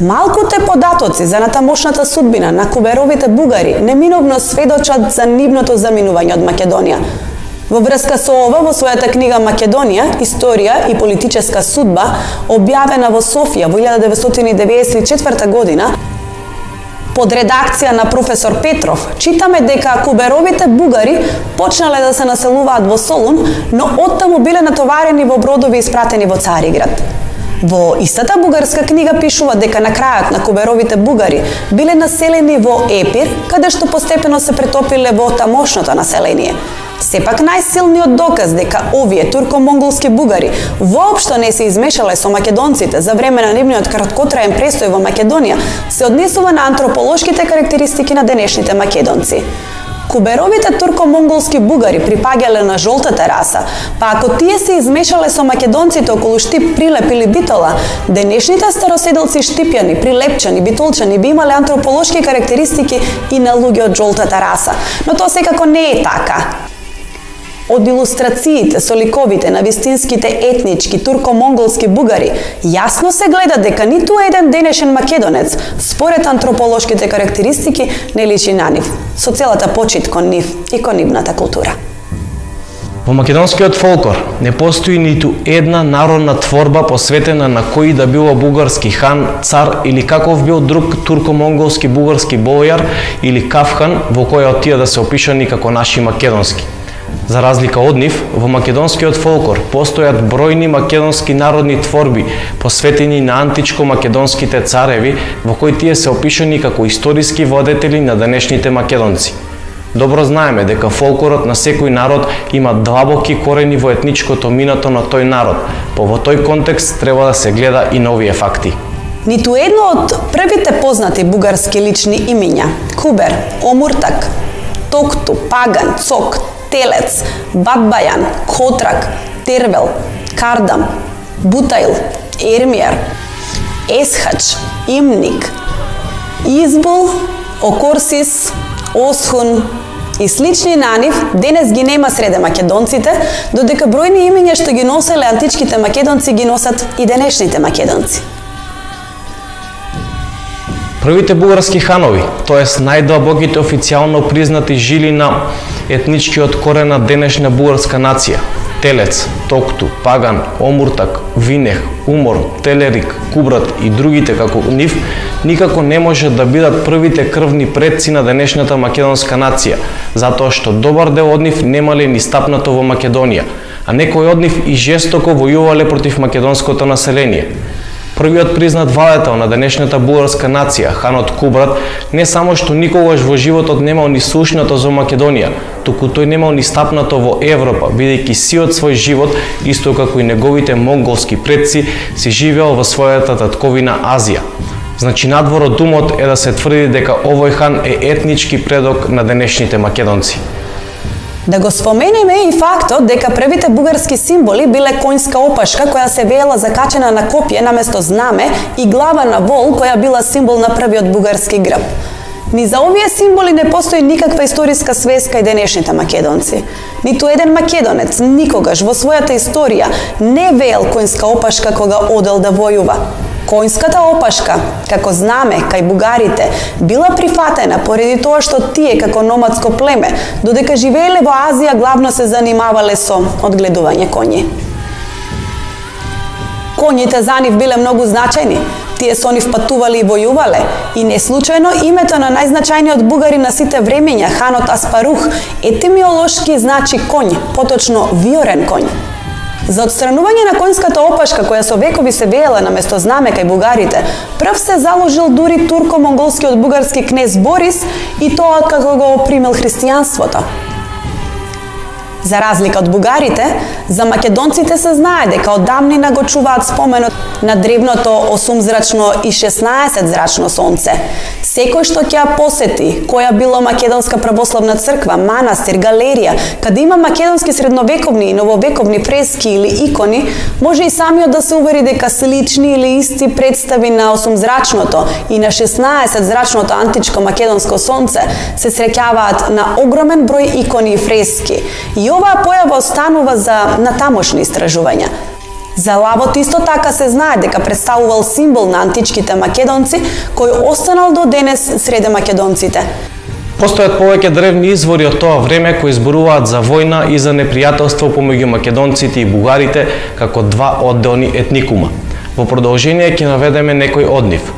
Малкуте податоци за натамошната судбина на куберовите бугари неминовно сведочат за нивното заминување од Македонија. Во врска со ова, во својата книга Македонија, историја и политическа судба, објавена во Софија во илјада деветстотини деветдесет и четврта година, под редакција на професор Петров, читаме дека куберовите бугари почнале да се населуваат во Солун, но оттаму биле натоварени во бродови испратени во Цариград. Во истата бугарска книга пишува дека на крајот на куберовите бугари биле населени во Епир, каде што постепено се претопиле во тамошното население. Сепак најсилниот доказ дека овие турко-монголски бугари воопшто не се измешале со македонците за време на нивниот краткотраен престој во Македонија се однесува на антрополошките карактеристики на денешните македонци. Куберовите турко-монголски бугари припаѓале на жолтата раса, па ако тие се измешале со македонците околу Штип, Прилеп или Битола, денешните староседелци штипјани, прилепчани, битолчани би имале антрополошки карактеристики и на луѓе од жолтата раса, но тоа секако не е така. Од илустрациите со ликовите на вистинските етнички турко-монголски бугари, јасно се гледа дека ниту еден денешен македонец, според антрополошките карактеристики, не личи на нив, со целата почит кон нив и кон нивната култура. Во македонскиот фолклор не постои ниту една народна творба посветена на кој да било бугарски хан, цар или каков бил друг турко-монголски бугарски бојар или кафхан во која од тие да се опишани како наши македонски. За разлика од нив, во македонскиот фолклор постојат бројни македонски народни творби посветени на античко-македонските цареви, во кои тие се опишани како историски владетели на денешните македонци. Добро знаеме дека фолклорот на секој народ има длабоки корени во етничкото минато на тој народ, по во тој контекст треба да се гледа и на овие факти. Ниту едно од првите познати бугарски лични имиња, Кубер, Омуртак, Токту, Паган, Цок, Телец, Батбајан, Котрак, Тервел, Кардам, Бутаил, Ермијар, Есхач, Имник, Избул, Окорсис, Осхун и слични на нив денес ги нема среде македонците, додека бројни имиња што ги носеле античките македонци ги носат и денешните македонци. Првите бугарски ханови, тоест најдлабоките официјално признати жили на етничкиот корен на денешна бугарска нација, Телец, Токту, Паган, Омуртак, Винех, Умор, Телерик, Кубрат и другите како нив, никако не може да бидат првите крвни предци на денешната македонска нација, затоа што добар дел од нив немале ни стапнато во Македонија, а некои од нив и жестоко војувале против македонското население. Првиот признат владетел на денешната бугарска нација, ханот Кубрат, не само што никогаш во животот немал ни слушнато за Македонија, туку тој немал ни стапнато во Европа, бидејќи сиот свој живот, исто како и неговите монголски предци, си живеал во својата татковина Азија. Значи надвор од умот е да се тврди дека овој хан е етнички предок на денешните македонци. Да го споменеме и фактот дека првите бугарски символи биле конјска опашка која се веела закачена на копје наместо знаме и глава на вол која била символ на првиот бугарски грб. Ни за овие символи не постои никаква историска свеска и денешните македонци. Ниту еден македонец никогаш во својата историја не веел конјска опашка кога одел да војува. Конјската опашка, како знаме кај бугарите, била прифатена поради тоа што тие како номадско племе, додека живееле во Азија, главно се занимавале со одгледување коњи. Коњите за нив биле многу значајни. Тие со нив патувале и војувале, и не случајно името на најзначајниот бугари на сите времења, ханот Аспарух, етимиолошки значи коњ, поточно виорен коњ. За отстранување на конјската опашка која со векови се веела наместо знаме кај бугарите, прв се заложил дури турко-монголскиот бугарски кнез Борис и тоа како го примил христијанството. За разлика од бугарите, за македонците се знае дека од давнина го чуваат споменот на древното осумзрачно и шеснаесетзрачно сонце. Секој што ќе ја посети, која било македонска православна црква, манастир, галерија, каде има македонски средновековни и нововековни фрески или икони, може и самиот да се увери дека слични или исти представи на осумзрачното и на шеснаесетзрачното античко македонско сонце се среќаваат на огромен број икони и фрески. И оваа појава останува за натамошни истражувања. За лавот исто така се знае дека представувал символ на античките македонци, кој останал до денес среде македонците. Постојат повеќе древни извори од тоа време кои зборуваат за војна и за непријателство помеѓу македонците и бугарите како два одделни етникума. Во продолжение ќе наведеме некои од нив.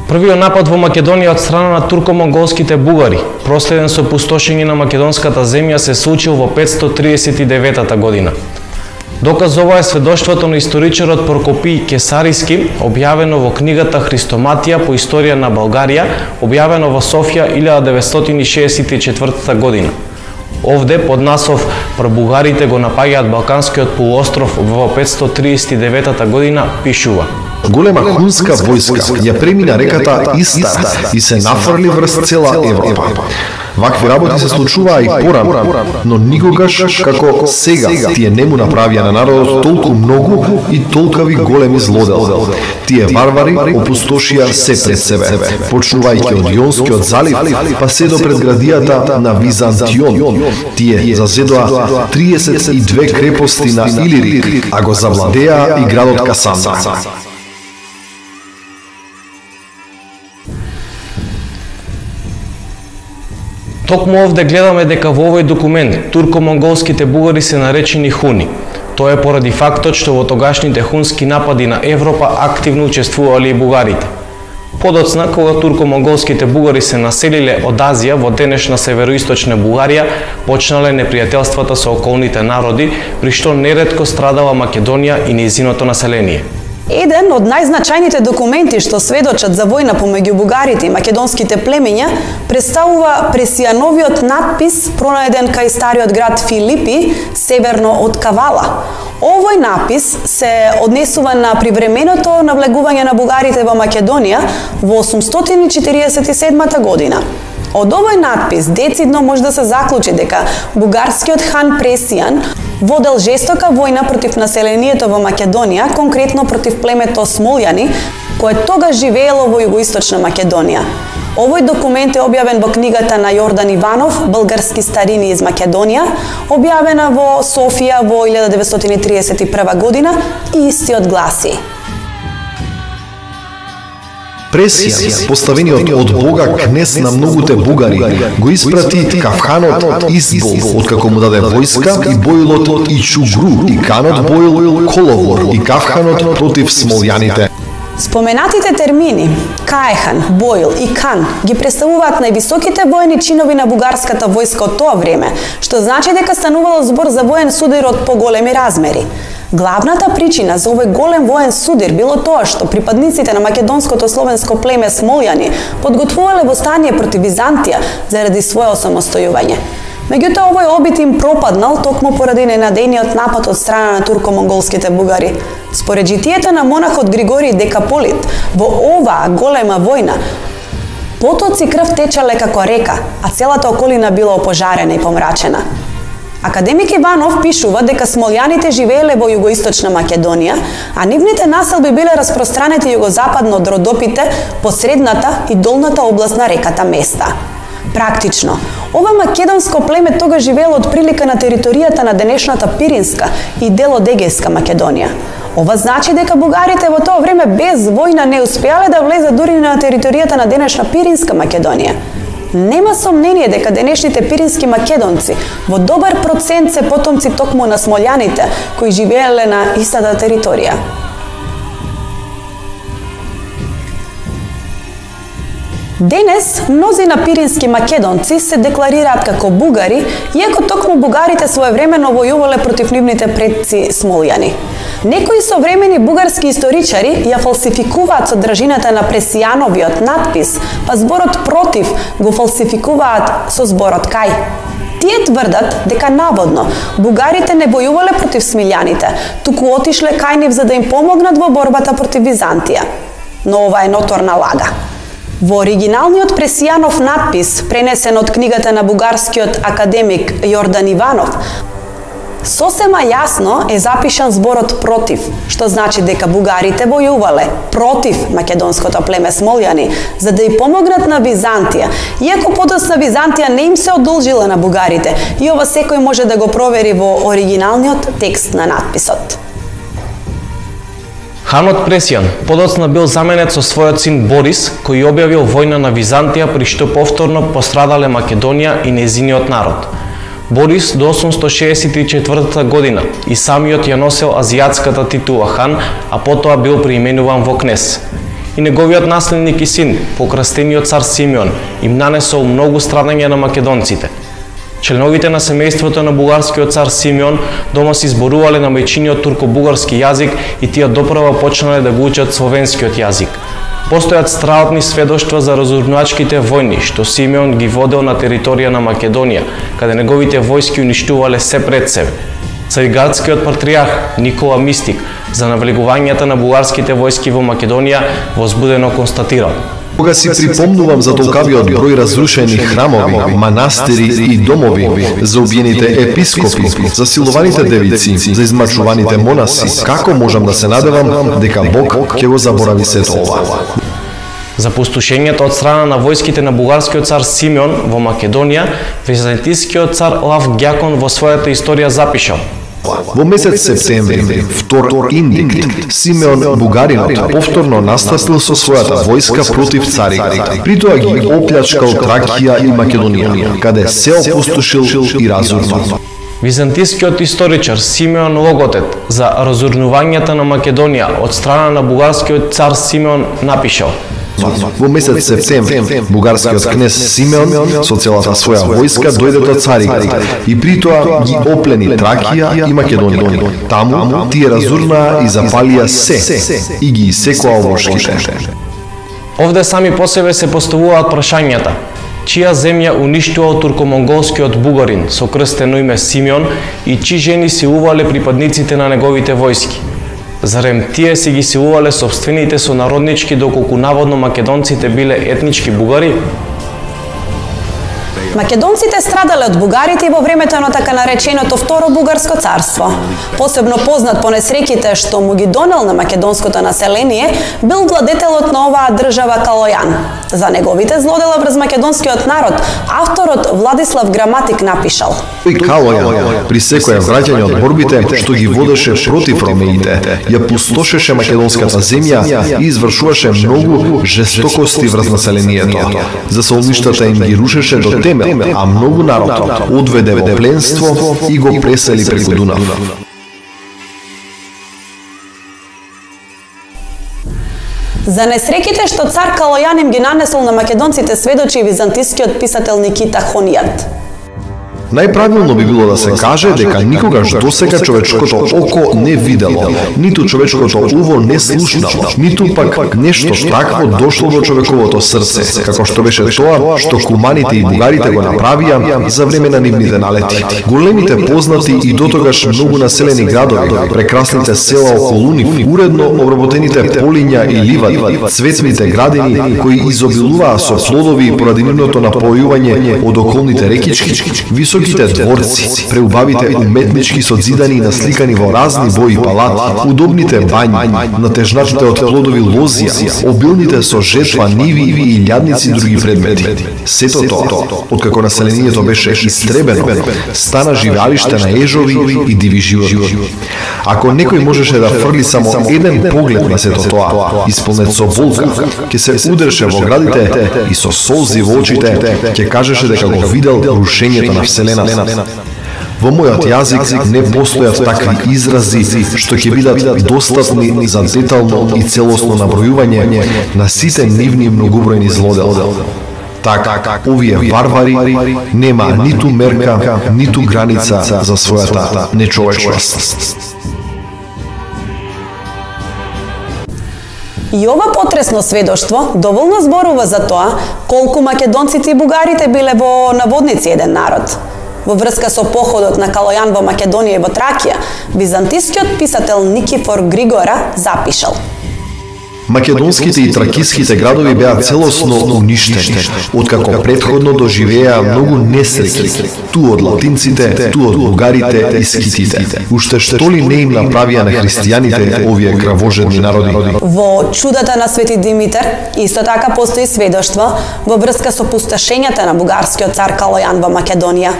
Првиот напад во Македонија од страна на турко-монголските бугари, проследен со пустошење на македонската земја, се случил во петстотини триесет и деветата година. Доказ ова е сведоштвото на историчарот Прокопиј Кесариски, објавено во книгата Христоматија по историја на Българија, објавено во Софија илјада деветстотини шеесет и четвртата година. Овде, под наслов "Пробугарите го напаѓаат Балканскиот полуостров во петстотини триесет и деветата година", пишува: Голема хунска војска ја премина реката Истар и се нафрли врз цела Европа. Вакви работи се случуваа и порано, но никогаш како сега тие не му направија на народот толку многу и толкави големи злодела. Тие варвари опустошија се пред себе, почнувајќи од Јонскиот залив, па се до предградијата на Византион. Тие зазедоа триесет и две крепости на Илирик, а го завладеа и градот Касандра. Токму овде гледаме дека во овој документ турко-монголските бугари се наречени хуни. Тоа е поради фактот што во тогашните хунски напади на Европа активно учествувале и бугарите. Подоцна, кога турко-монголските бугари се населиле од Азија во денешна североисточна Бугарија, почнале непријателствата со околните народи, при што неретко страдала Македонија и нејзиното население. Еден од најзначајните документи што сведочат за војна помеѓу бугарите и македонските племиња представува Пресијановиот надпис пронајден кај стариот град Филипи, северно од Кавала. Овој напис се однесува на привременото навлегување на бугарите во Македонија во осумстотини четириесет и седмата година. Од овој надпис децидно може да се заклучи дека бугарскиот хан Пресијан водел жестока војна против населението во Македонија, конкретно против племето Смолјани, кое тогаш живеело во југоисточна Македонија. Овој документ е објавен во книгата на Јордан Иванов, Български старини из Македонија, објавена во Софија во илјада деветстотини триесет и прва година и истиот гласи: Пресијан, поставениот од Бога кнез на многуте бугари, го испрати Кавханот Избол, откако му даде војска, и бојлот Ичугру, и канот бојл Коловор, и Кавханот против смолјаните. Споменатите термини Каехан, Бојл и Кан ги представуваат највисоките воени чинови на бугарската војска од тоа време, што значи дека станувало збор за воен судир од поголеми размери. Главната причина за овој голем воен судир било тоа што припадниците на македонското словенско племе Смолјани подготвувале восстание против Византија заради свое осамостојување. Меѓутоа овој обид им пропаднал токму поради ненадејниот напад од страна на турко-монголските бугари. Според житието на монахот Григорий Декаполит, во оваа голема војна потоци крв течале како река, а целата околина била опожарена и помрачена. Академик Иванов пишува дека смолјаните живееле во југоисточна Македонија, а нивните населби биле распространети југозападно од Родопите по средната и долната област на реката Места. Практично, ова македонско племе тога живеело од прилика на територијата на денешната Пиринска и дел од Егејска Македонија. Ова значи дека бугарите во тоа време без војна не успеале да влезат дури на територијата на денешна Пиринска Македонија. Нема сомнение дека денешните пирински македонци во добар процент се потомци токму на смолјаните кои живееле на истата територија. Денес, мнози на пирински македонци се декларираат како бугари, иако токму бугарите своевремено војувале против нивните предци смолјани. Некои современи бугарски историчари ја фалсификуваат содржината на Пресијановиот надпис, па зборот против го фалсификуваат со зборот кај. Тие тврдат дека наводно бугарите не војувале против смилјаните, туку отишле кај нив за да им помогнат во борбата против Византија. Но ова е ноторна лага. Во оригиналниот Пресијанов надпис, пренесен од книгата на бугарскиот академик Јордан Иванов, сосема јасно е запишан зборот против, што значи дека бугарите војувале против македонското племе смолјани, за да ја помогнат на Византија, иако подоцна Византија не им се одолжила на бугарите, и ова секој може да го провери во оригиналниот текст на надписот. Ханот Пресијан подоцна бил заменет со својот син Борис, кој објавил војна на Византија, при што повторно пострадале Македонија и незиниот народ. Борис до осумсто шеесет и четвртата година и самиот ја носел азијатската титула хан, а потоа бил преименуван во кнез. И неговиот наследник и син, покрастениот цар Симеон, им нанесол многу страдања на македонците. Членовите на семејството на бугарскиот цар Симеон дома се изборувале на мајчиниот турко-бугарски јазик и тие допрва почнале да го учат словенскиот јазик. Постојат страотни сведоштва за разурнувачките војни што Симеон ги водел на територија на Македонија, каде неговите војски уништувале се пред себе. Цариградскиот патриарх Никола Мистик за навлегувањата на бугарските војски во Македонија возбудено констатирал: Кога си припомнувам за толкавиот број разрушени храмови, манастири и домови, за убиените епископи, за силуваните девици, за измачуваните монаси, како можам да се надевам дека Бог ќе го заборави сето ова? За пустошењето од страна на војските на бугарскиот цар Симеон во Македонија, византискиот цар Лав Ѓакон во својата историја запишал: Во месец септември, втор индикт, Симеон бугаринот повторно настапил со својата војска против царите. При тоа ги оплячкал Тракија и Македонија, каде се опустошил и разурнал. Византискиот историчар Симеон Логотет за разурнувањата на Македонија од страна на бугарскиот цар Симеон напишал: Во месец септември, бугарскиот кнез Симеон со целата своја војска дојде до Цариград и при тоа ги оплени Тракија и Македонија. Таму тие разурнаа и запалија се и ги исекоа овошките. Овде сами по себе се поставуваат прашањата: чија земја уништувал турко-монголскиот бугарин со крстено име Симеон и чии жени силувале припадниците на неговите војски? Зарем тие си ги силувале собствените сонароднички, доколку наводно македонците биле етнички бугари? Македонците страдале од бугарите и во времето на така нареченото Второ бугарско царство. Посебно познат по несреќите што му ги донел на македонското население бил владетелот на оваа држава Калојан. За неговите злодела врз македонскиот народ, авторот Владислав Граматик напишал: Калојан при секое враќање од борбите што ги водеше против ромеите, ја пустошеше македонската земја и извршуваше многу жестокости врз населението. Засолништата им ги рушеше до темел, а многу народ одведе во пленство и го пресели преку Дунав. За несреќите што цар Калојан им ги нанесол на македонците сведочи византискиот писател Никита Хонијат. Најправилно би било да се каже дека никогаш досега човечкото око не видело, ниту човечкото уво не слушнало, ниту пак нешто такво дошло до човековото срце, како што беше тоа што куманите и бугарите го направија за време на нивните налети. Големите познати и дотогаш многу населени градови, прекрасните села околу нив, уредно обработените полиња и ливади, цветните градини кои изобилуваа со плодови поради нивното напојување од околните рекички, високите дворци, преубавите уметнички созидани и насликани во разни бои палати, удобните бањи, натежнатите од плодови лозија, обилните со жетва ниви и илјадници други предмети. Сето тоа, откако населението беше истребено, стана живеалиште на ежови и диви животни. Ако некој можеше да фрли само еден поглед на сето тоа, исполнет со болка, ќе се удреше во градите и со солзи во очите ќе кажеше дека го видел рушењето на Вселената. Во мојот јазик не постојат такви изрази што ќе бидат достапни за детално и целосно набројување на сите нивни многобројни злодела. Така, овие варвари нема ниту мерка, ниту граница за својата нечовечност. И ова потресно сведоштво доволно зборува за тоа колку македонците и бугарите биле во наводници еден народ. Во врска со походот на Калојан во Македонија и во Тракија, византискиот писател Никифор Григора запишал: Македонските и тракиските градови беа целосно уништени, откако претходно доживеа многу несреќи, ту од латинците, ту од бугарите и скитите. Уште што ли не им направија на христијаните овие кравожедни народи? Во чудата на Свети Димитар исто така постои сведоштво во врска со пустошењата на бугарскиот цар Калојан во Македонија.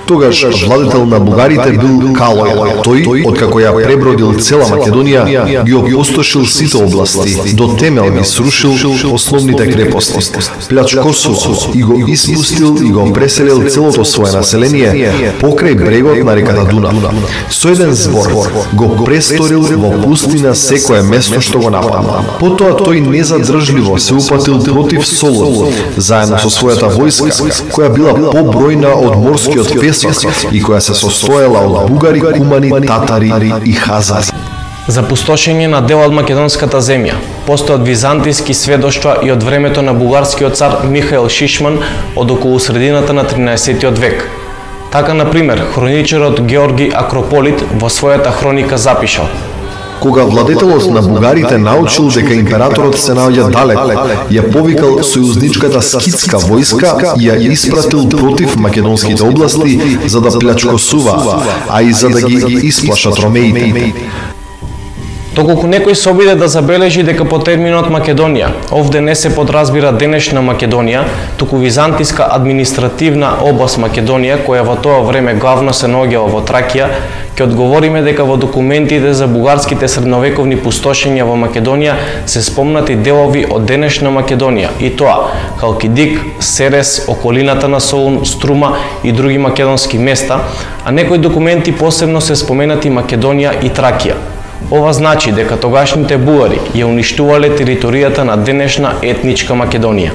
Тогаш владетел на бугарите бил Калојан. Тој, откако ја пребродил цела Македонија, ги опустошил сите области, до темел ги срушил основните крепости, плячкосувал и го испустил и го преселил целото свое население покрај брегот на реката Дунав. Со еден збор го престорил во пустина секое место што го нападнал. Потоа тој незадржливо се упатил против Солун, заедно со својата војска, која била побројна од морскиот песок и која се состоела од бугари, кумани, татари и хазари. За пустошење на дел од македонската земја постојат византиски сведоштва и од времето на бугарскиот цар Михаил Шишман од околу средината на тринаесеттиот век. Така, например, хроничарот Георги Акрополит во својата хроника запишал: кога владетелот на бугарите научил дека императорот се наоѓа далеко, ја повикал сојузничката скитска војска и ја испратил против македонските области за да плячкосува, а и за да ги исплашат ромеите. Доколку некој се обиде да забележи дека по терминот Македонија овде не се подразбира денешна Македонија, туку византиска административна област Македонија, која во тоа време главно се наоѓала во Тракија, ќе одговориме дека во документите за бугарските средновековни пустошења во Македонија се спомнати делови од денешна Македонија, и тоа Халкидик, Серес, околината на Солун, Струма и други македонски места, а некои документи посебно се споменати Македонија и Тракија. Ова значи дека тогашните бугари ја уништувале територијата на денешна етничка Македонија.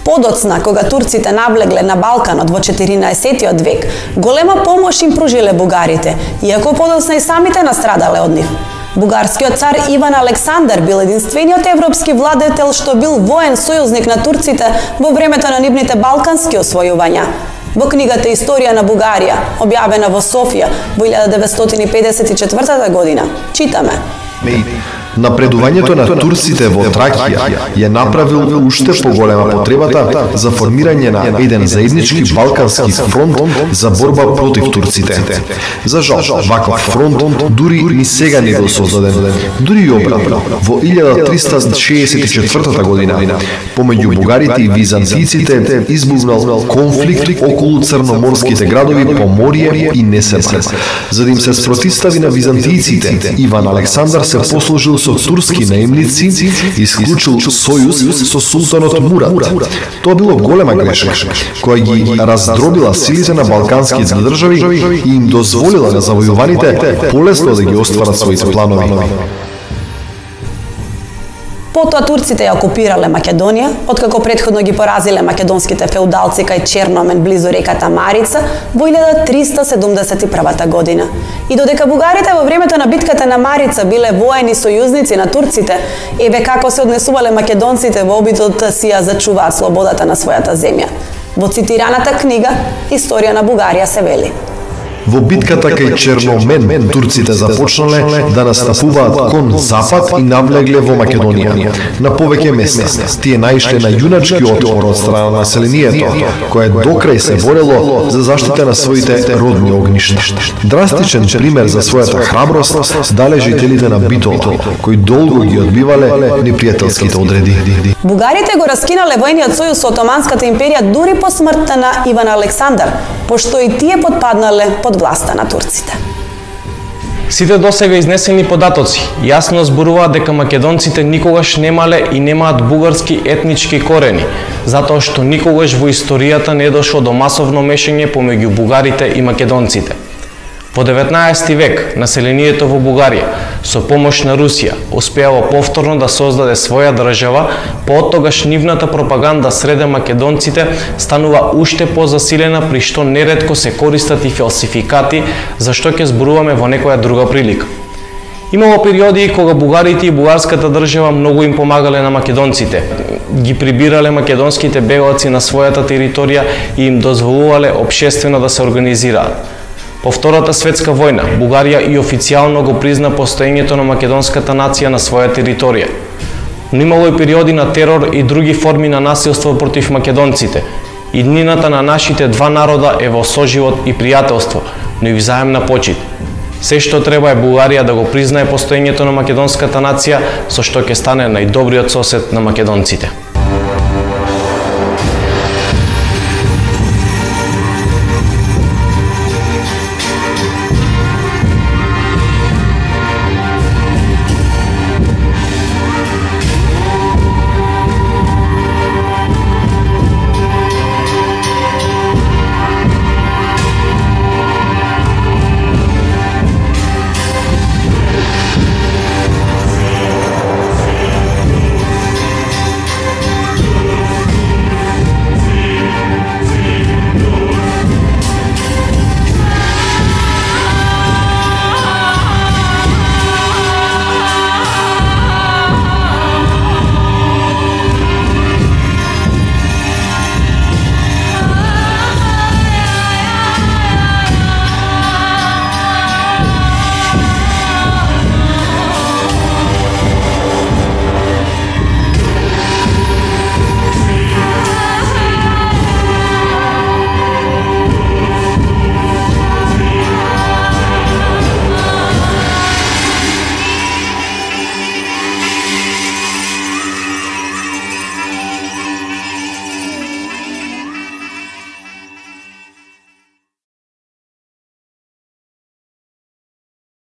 Подоцна, кога турците навлегле на Балканот во четиринаесеттиот век, голема помош им пружиле бугарите, иако подоцна и самите настрадале од нив. Бугарскиот цар Иван Александар бил единствениот европски владетел што бил воен сојузник на турците во времето на нивните балкански освојувања. Во книгата Историја на Бугарија, објавена во Софија во илјада деветстотини педесет и четвртата година, читаме: напредувањето на турците во Тракија ја направил уште поголема потребата за формирање на еден заеднички балкански фронт за борба против турците. За жал, ваков фронт дури ни сега не бил создаден. Дури и обратно, во илјада триста шеесет и четвртата година, помеѓу бугарите и византиците избувнал конфликт околу црноморските градови Поморје и Несебар. За да им се спротивстави на византиците, Иван Александар се послужил со турски наемници и исклучил сојуз со султанот Мурат. Тоа било голема грешка, која ги раздробила силите на балканските држави и им дозволила на завојуваните полесно да ги остварат своите планови. Потоа турците ја окупирале Македонија, откако претходно ги поразиле македонските феудалци кај Черномен близу реката Марица во илјада триста седумдесет и првата година. И додека бугарите во времето на битката на Марица биле воени сојузници на турците, еве како се однесувале македонците во обидот да си ја зачуваат слободата на својата земја. Во цитираната книга Историја на Бугарија се вели: во битката кај Черномен, турците започнале да настапуваат кон запад и навлегле во Македонија. На повеќе места тие наишле на јуначки отпор од страна на населението, кое докрај се борело за заштита на своите родни огништа. Драстичен пример за својата храброст дале жителите на Битола, кои долго ги одбивале непријателските одреди. Бугарите го раскинале војниот сојуз со Отоманската империја дури по смртта на Иван Александар, пошто и тие потпаднале под власта на турците. Сите досега изнесени податоци јасно зборуваат дека македонците никогаш немале и немаат бугарски етнички корени, затоа што никогаш во историјата не дошло до масовно мешање помеѓу бугарите и македонците. Во деветнаесети век населението во Бугарија со помош на Русија успеало повторно да создаде своја држава, поотогаш нивната пропаганда среде македонците станува уште позасилена, при што неретко се користат и фалсификати, за што ќе зборуваме во некоја друга прилика. Имало периоди кога бугарите и бугарската држава многу им помагале на македонците, ги прибирале македонските бегалци на својата територија и им дозволувале општествено да се организираат. По Втората светска војна, Бугарија и официјално го призна постоењето на македонската нација на своја територија. Но имало и периоди на терор и други форми на насилство против македонците. Иднината на нашите два народа е во соживот и пријателство, но и взаемна почит. Се што треба е Бугарија да го признае постоењето на македонската нација, со што ќе стане најдобриот сосед на македонците.